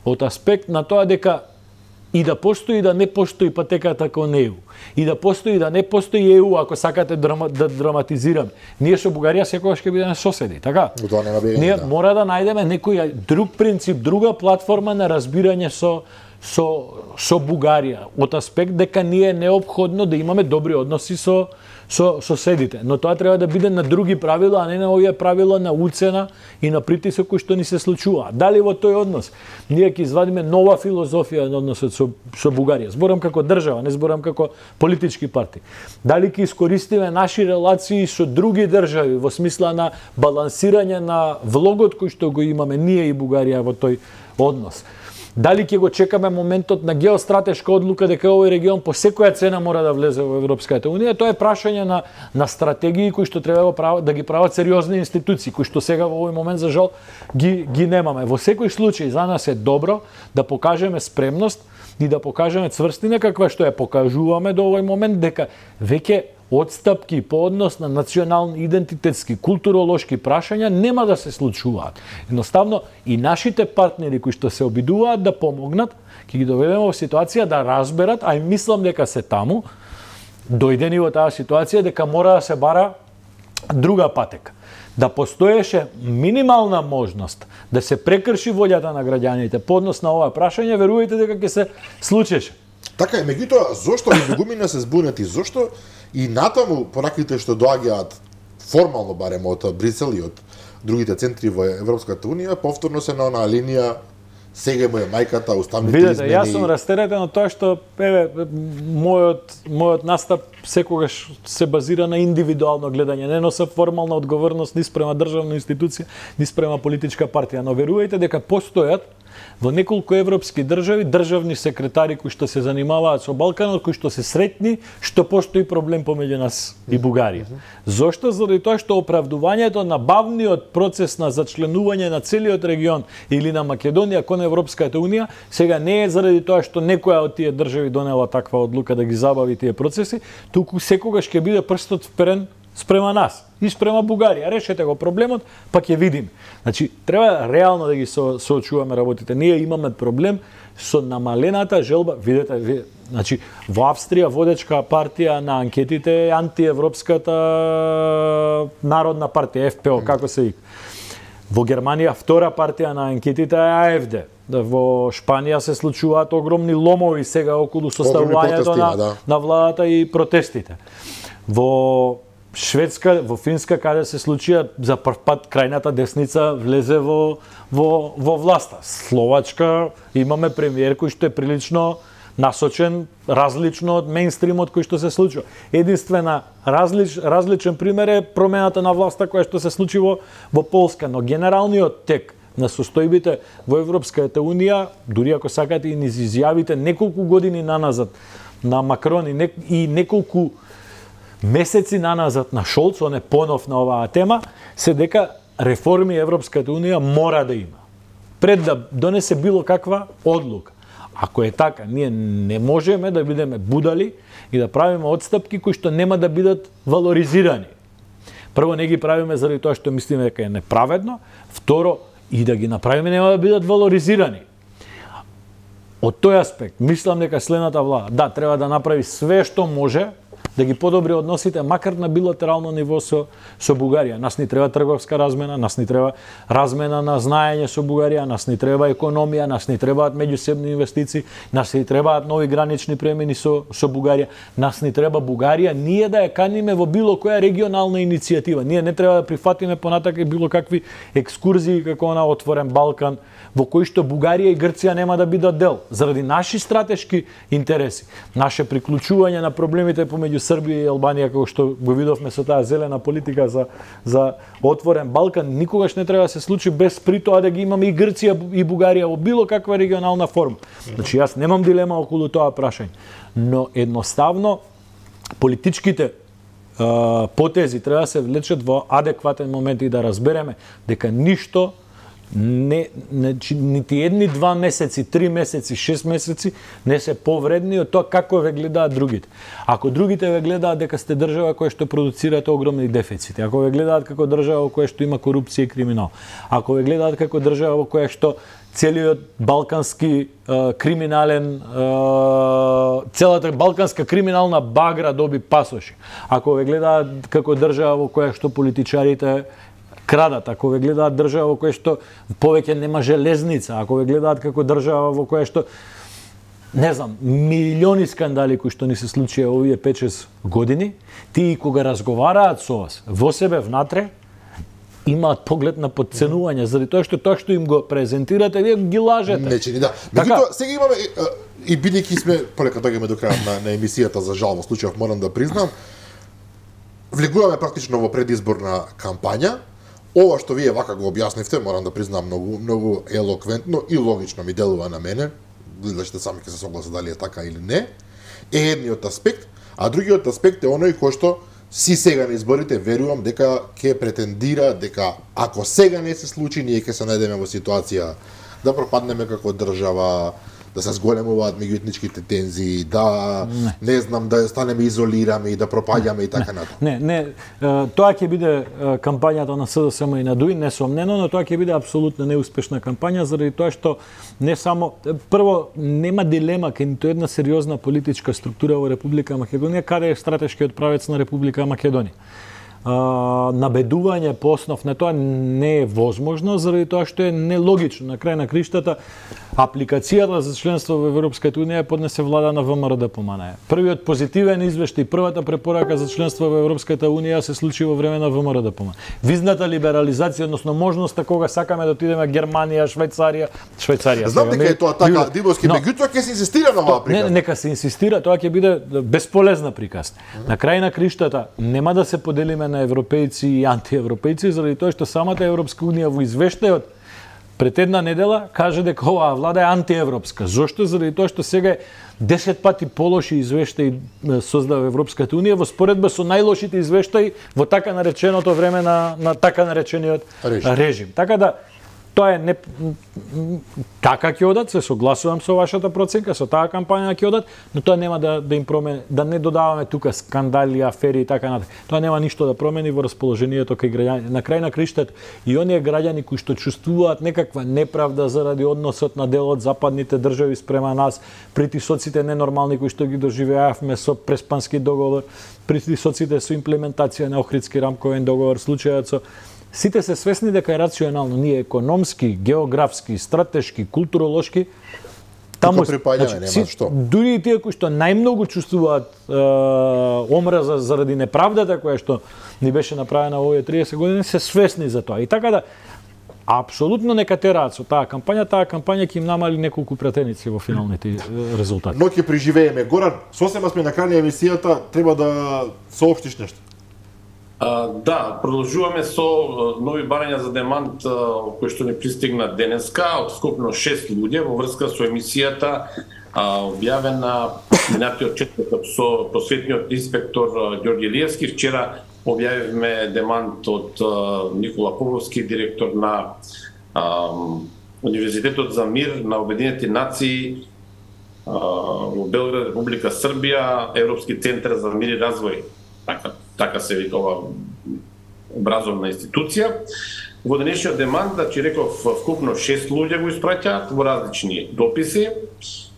од аспект на тоа дека и да постои да не постои патеката кон ЕУ. И да постои да не постои ЕУ, ако сакате да драматизираме. Ние со Бугарија секогаш ќе бидеме соседи, така? Ние мора да најдеме некој друг принцип, друга платформа на разбирање со Бугарија, од аспект дека ние е неопходно да имаме добри односи со соседите. Но тоа треба да биде на други правила, а не на овие правила на уцена и на притисок кои што ни се случува. Дали во тој однос ние ќе извадиме нова филозофија на односот со Бугарија? Зборам како држава, не зборам како политички партии. Дали ќе искористиме наши релации со други држави во смисла на балансирање на влогот кој што го имаме ние и Бугарија во тој однос? Дали ќе го чекаме моментот на геостратешка одлука дека овој регион по секоја цена мора да влезе во Европската унија? Тоа е прашање на стратегии кои што треба да ги прават сериозни институции, кои што сега во овој момент за жал ги немаме. Во секој случај за нас е добро да покажеме спремност и да покажеме цврстина каква што ја покажуваме до овој момент, дека веќе отстапки по однос на национални, идентитетски, културолошки прашања нема да се случуваат. Едноставно и нашите партнери кои што се обидуваат да помогнат, ќе ги доведеме во ситуација да разберат, а и мислам дека се таму, дојдени во таа ситуација дека мора да се бара друга патека. Да постоеше минимална можност да се прекрши волјата на граѓаните по однос на ова прашање, верувајте дека ќе се случеше. Така е, меѓутоа, зошто луѓумина се збунети, зошто и натаму пораките што доаѓаат формално барем од Брисел и од другите центри во Европската унија, повторно се на онаа линија сега му е мајката, уставните измени. Видете, јас сум растеретен од тоа што мојот настап секогаш се базира на индивидуално гледање, не носи формална одговорност ни спрема државна институција, ни спрема политичка партија, но верувајте дека постојат во неколку европски држави државни секретари кои што се занимаваат со Балканот, кои што се сретни што постои проблем помеѓу нас и Бугарија. Зошто? Заради тоа што оправдувањето на бавниот процес на зачленување на целиот регион или на Македонија кон Европската унија сега не е заради тоа што некоја од тие држави донела таква одлука да ги забави тие процеси, туку секогаш ќе биде прстот вперен спрема нас и спрема Бугарија. Решете го проблемот, па ќе видиме. Значи, треба реално да ги соочуваме работите. Ние имаме проблем со намалената желба, видете, значи, во Австрија водечка партија на анкетите е антиевропската народна партија, ФПО, како се вика. Во Германија втора партија на анкетите е АФД. Во Шпанија се случуваат огромни ломови сега околу составувањето на владата и протестите. Во Шведска, во Финска, каде се случија за прв пат крајната десница влезе во власта. Словачка имаме премиер кој што е прилично насочен, различно од мејнстримот кој што се случува. Единствена различен пример е промената на власта која што се случи во Полска, но генералниот тек на состојбите во Европската унија, дури ако сакате и низ изјавите неколку години наназад на Макрон и неколку месеци наназад на Шолц, он е понов на оваа тема, се дека реформи Европската унија мора да има. Пред да донесе било каква одлука. Ако е така, ние не можеме да бидеме будали и да правиме отстапки кои што нема да бидат валоризирани. Прво, не ги правиме заради тоа што мислиме дека е неправедно, второ, и да ги направиме нема да бидат валоризирани. Од тој аспект, мислам дека следната влада, треба да направи све што може да ги подобри односите, макар на билатерално ниво со Бугарија. Нас ни треба трговска размена, нас ни треба размена на знаење со Бугарија, нас ни треба економија, нас ни требаат меѓусебни инвестиции, нас ни требаат нови гранични премини со Бугарија, нас ни треба Бугарија, ние да ја каниме во било која регионална иницијатива. Ние не треба да прифатиме понатака било какви екскурзии како на Отворен Балкан, во кои што Бугарија и Грција нема да бидат дел, заради наши стратешки интереси, наше приклучување на проблемите помеѓу Србија и Албанија, како што го видовме со таа зелена политика за Отворен Балкан, никогаш не треба да се случи без при тоа да ги имаме и Грција и Бугарија во било каква регионална форма. Значи, јас немам дилема околу тоа прашање, но едноставно политичките потези треба да се влечат во адекватен момент и да разбереме дека ништо нити едни 2 месеци, 3 месеци, 6 месеци не се повредни од тоа како ве гледаат другите. Ако другите ве гледаат дека сте држава која што продуцирате огромни дефицити, ако ве гледаат како држава во која што има корупција и криминал, ако ве гледаат како држава во која што целиот балкански криминален, целата балканска криминална багра доби пасоши, ако ве гледаат како држава во која што политичарите крадат, ако ве гледаат држава во која што повеќе нема железница, ако ве гледаат како држава во која што не знам, милиони скандали кои што ни се случија овие 5-6 години, тие кога разговараат со вас во себе внатре, имаат поглед на подценување, заради тоа што им го презентирате, вие ги лажете. Не чини, да. Меѓутоа, сега имаме, и бидејќи сме, полека доаѓаме до крајот на емисијата, за жал во случајов морам да признам, влегуваме практично во предизборна кампања. Ова што вие вака го објаснивте, морам да признам многу елоквентно и логично ми делува на мене, гледачите сами ќе се согласат дали е така или не, е едниот аспект, а другиот аспект е оној кој што си сега на изборите верувам дека ќе претендира дека ако сега не се случи, ние ќе се најдеме во ситуација да пропаднеме како држава, да се зголемуваат меѓуетничките тензии, да не знам, да станеме изолирани, да пропаѓаме и така натаму. Не, тоа ќе биде кампањата на СДСМ и на ДУИ, несомнено, но тоа ќе биде апсолутно неуспешна кампања заради тоа што не само прво нема дилема кај ниту една сериозна политичка структура во Република Македонија каде е стратешкиот правец на Република Македонија. Набедување по основ на тоа не е возможно заради тоа што е нелогично. На крај на криштата апликацијата за членство во Европската унија поднесе влада на ВМРО ДПМН. Првиот позитивен извештај, првата препорака за членство во Европската унија се случи во време на ВМРО ДПМН. Визната либерализација, односно можноста кога сакаме да отидеме Германија, Швајцарија. Знам дека е тоа така, Дибовски, меѓутоа ќе се инсистира на оваа приказна. Нека се инсистира, тоа ќе биде бесполезна приказна. На крај на криштата нема да се поделиме на европејци и антиевропејци заради тоа што самата Европска унија во извештајот пред една недела каже дека оваа влада е антиевропска. Зошто? Заради тоа што сега 10 пати полоши извештаи создава Европската унија во споредба со најлошите извештаи во така нареченото време на така наречениот режим. Така да тоа е така ќе одат, се согласувам со вашата проценка, со таа кампања ќе одат, но тоа нема да им промени, да не додаваме тука скандали, афери и така натаму. Тоа нема ништо да промени во расположението кај граѓаните. На крај на криштата и оние граѓани кои што чувствуваат некаква неправда заради односот на дел од западните држави спрема нас, притисоците ненормални кои што ги доживеавме со Преспански договор, притисоците со имплементација на Охридски рамковен договор, случајот со сите се свесни дека е рационално, ние економски, географски, стратешки, културолошки, таму припаѓаме, нема што. Дури и тие кои што најмногу чувствуваат омраза заради неправдата која што ни беше направена во овие 30 години, се свесни за тоа. И така да апсолутно нека тераат со таа кампања ќе им намали неколку пратеници во финалните резултати. Но ќе преживееме. Горан, сосема сме на крај на емисијата, треба да соопштиш нешто. Да, продолжуваме со нови барања за демант кои што ни пристигна денеска од скупно 6 луѓе во врска со емисијата објавена минатиот четврток со просветниот инспектор Ѓорѓе Илиевски. Вчера објавивме демант од Никола Поповски, директор на Универзитетот за мир на Обединените нации во Белград, Република Србија, Европски центар за мир и развој. Така се вика ова образовна институција. Во денешниот демант, значи реков, вкупно 6 луѓе го испраќаат во различни дописи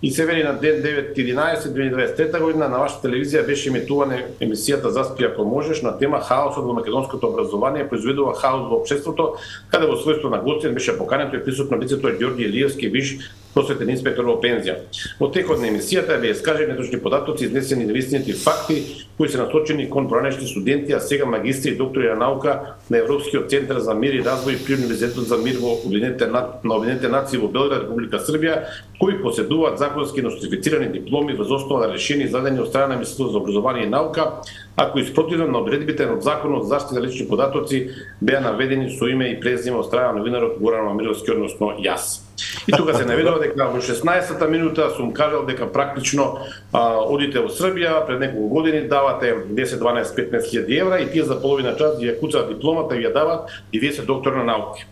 и се вели на ден 9.11.2023 година на вашата телевизија беше емитувана емисијата Заспи ако можеш на тема хаосот во македонското образование произведува хаос во општеството, каде во својство на гостин беше поканен тој присутно лицето Ѓорѓе Илиевски, биш просветен инспектор во пензија. Во текот на емисијата беа искажани неточни податоци, изнесени невистините факти кои се насочени кон поранешни студенти, а сега магистри и доктори на наука на Европскиот центар за мир и развој при Универзитетот за мир во Обединените нации во Белград, Република Србија, кои поседуваат законски нострифицирани дипломи врз основа на решени издадени од страна на Министерството за образование и наука, а кои спротивно на одредбите на Законот за заштита на лични податоци беа наведени со име и презиме од страна на новинарот Горан Мамировски, односно јас. И тука се наведува дека во 16-та минута сум кажал дека практично одите во Србија, пред неколку години давате 10, 12, 15 хиljadi евра и тие за половина час ја куцаат дипломата и ја дават и вие се доктор на науки.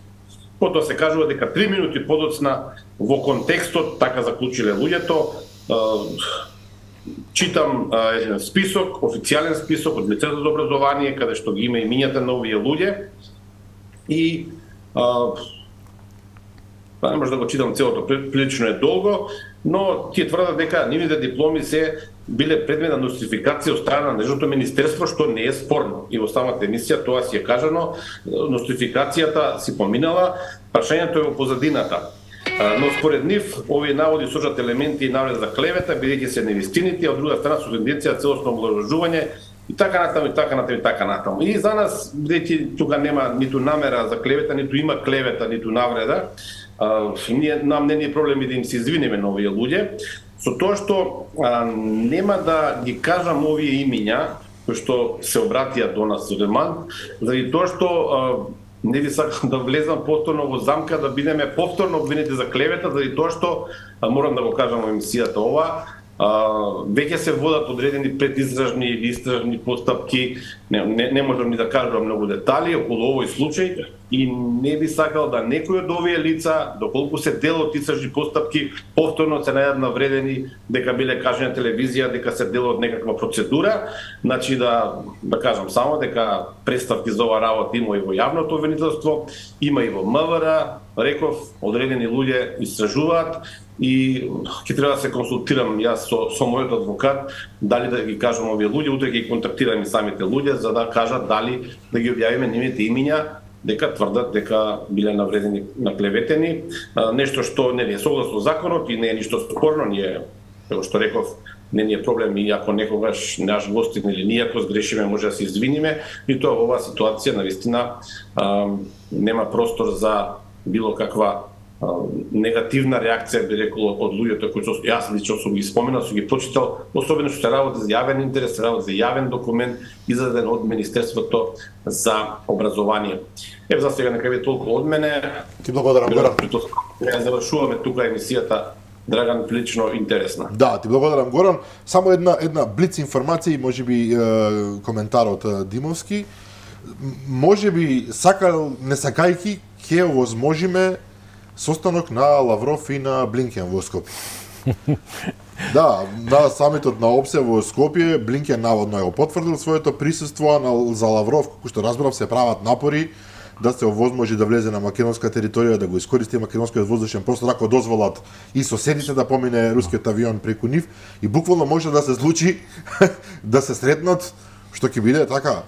Потоа се кажува дека 3 минути подоцна во контекстот, така заклучиле луѓето, читам список, официјален список од Министерството за образование, каде што ги има имињата на овие луѓе и не може да го читам целото, прилично е долго, но тие тврдат дека нивните дипломи се биле предмет на нострификација од страна на нежното министерство, што не е спорно. И во самата емисија тоа си е кажано, нострификацијата си поминала, прашањето е во позадината. Но според нив, овие наводи сожат елементи и навред за клевета, бидејќи се невистините, а од друга страна со тенденција целосно омаловажување и така натаму, и така натаму, и така натаму. И за нас, бидејќи тука нема ниту намера за клевета, ниту има клевета, ниту навреда, нам не е проблеми да им се извинеме на овие луѓе, со тоа што нема да ги кажам овие имиња кои што се обратија до нас со демант, заради тоа што не ви сакам да влезам повторно во замка да бидеме повторно обвинети за клевета, заради тоа што морам да го кажам во емисијата ова, веќе се водат одредени предистражни или истражни постапки, не можам ни да кажам многу детали околу овој случај и не би сакал да некој од овие лица, доколку се дел од истражни постапки, повторно се најдат навредени дека биле кажани на телевизија, дека се дел од некаква процедура, значи да кажам само дека представки за ова работа има и во јавното обвинителство, има и во МВР, реков, одредени луѓе истражуваат и ќе треба да се консултирам јас со мојот адвокат дали да ги кажам овие луѓе, утре ќе контактирам и самите луѓе за да кажат дали да ги објавиме нивните имиња дека тврдат дека биле навредени, наклеветени, нешто што не е согласно законот и не е ништо спорно, ние, како што реков, не ни е проблем и ако некогаш наш гостин или ние ако сгрешиме може да се извиниме и тоа во оваа ситуација навистина нема простор за било каква негативна реакција, би рекол, од луѓето кои јас лично сум ги споменал, сум ги прочитал, особено што се работи за јавен интерес, се работи за јавен документ издаден од Министерството за образование. За сега нека ви толку од мене. Ти благодарам, Горан. Ја завршуваме тука емисијата. Драган, лично интересна. Да, ти благодарам, Горан. Само една блиц информација и можеби коментар од Димовски. Можеби сакал, не сакајки, ќе овозможиме состанок на Лавров и на Блинкен во Скопје. Да, на самитот на ОПСЕ во Скопје, Блинкен наводно е потврдил своето присуство, за Лавров, како што разбрав, се прават напори да се овозможи да влезе на македонска територија, да го искористи македонскиот воздушен простор, ако дозволат и соседите да помине рускиот авион преку нив, и буквално може да се случи да се сретнат, што ќе биде така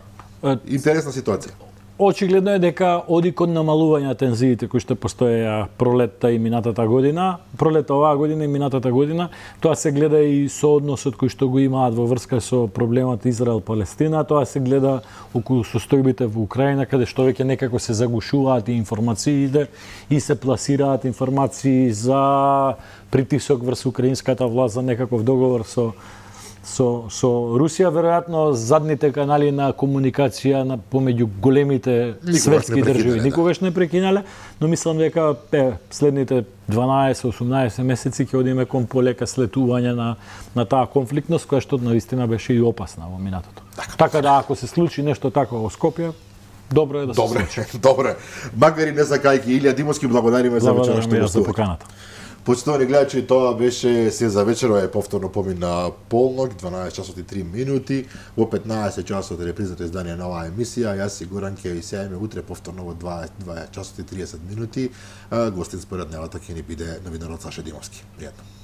интересна ситуација. Очигледно е дека оди кон намалување на тензиите кои што постоеја пролетта и минатата година, пролетта оваа година и минатата година, тоа се гледа и со односот кој што го имаат во врска со проблемот Израел-Палестина, тоа се гледа околу состојбите во Украина, каде што веќе некако се загушуваат и информациите и се пласираат информации за притисок врз украинската власт за некаков договор со Русија, веројатно задните канали на комуникација помеѓу големите светски држави никогаш не прекинале, но мислам дека следните 12-18 месеци ќе одиме кон полека слетување на таа конфликтност која што навистина беше и опасна во минатото. Така да ако се случи нешто такво во Скопје, добро е да се случи. Добре. Макар и не сакајки, Илија Димовски, благодариме за вечерашното поканата. Почитувани гледачи, тоа беше се за вечерва, е повторно помина полнок, 12 часот и 3 минути, во 15 часот е репризато издание на оваа емисија, јас сигуран ќе ви сејаме утре повторно во 2 часот и 30 минути, гостин според нејата ќе ни биде новинарот Саша Димовски. Пријатно.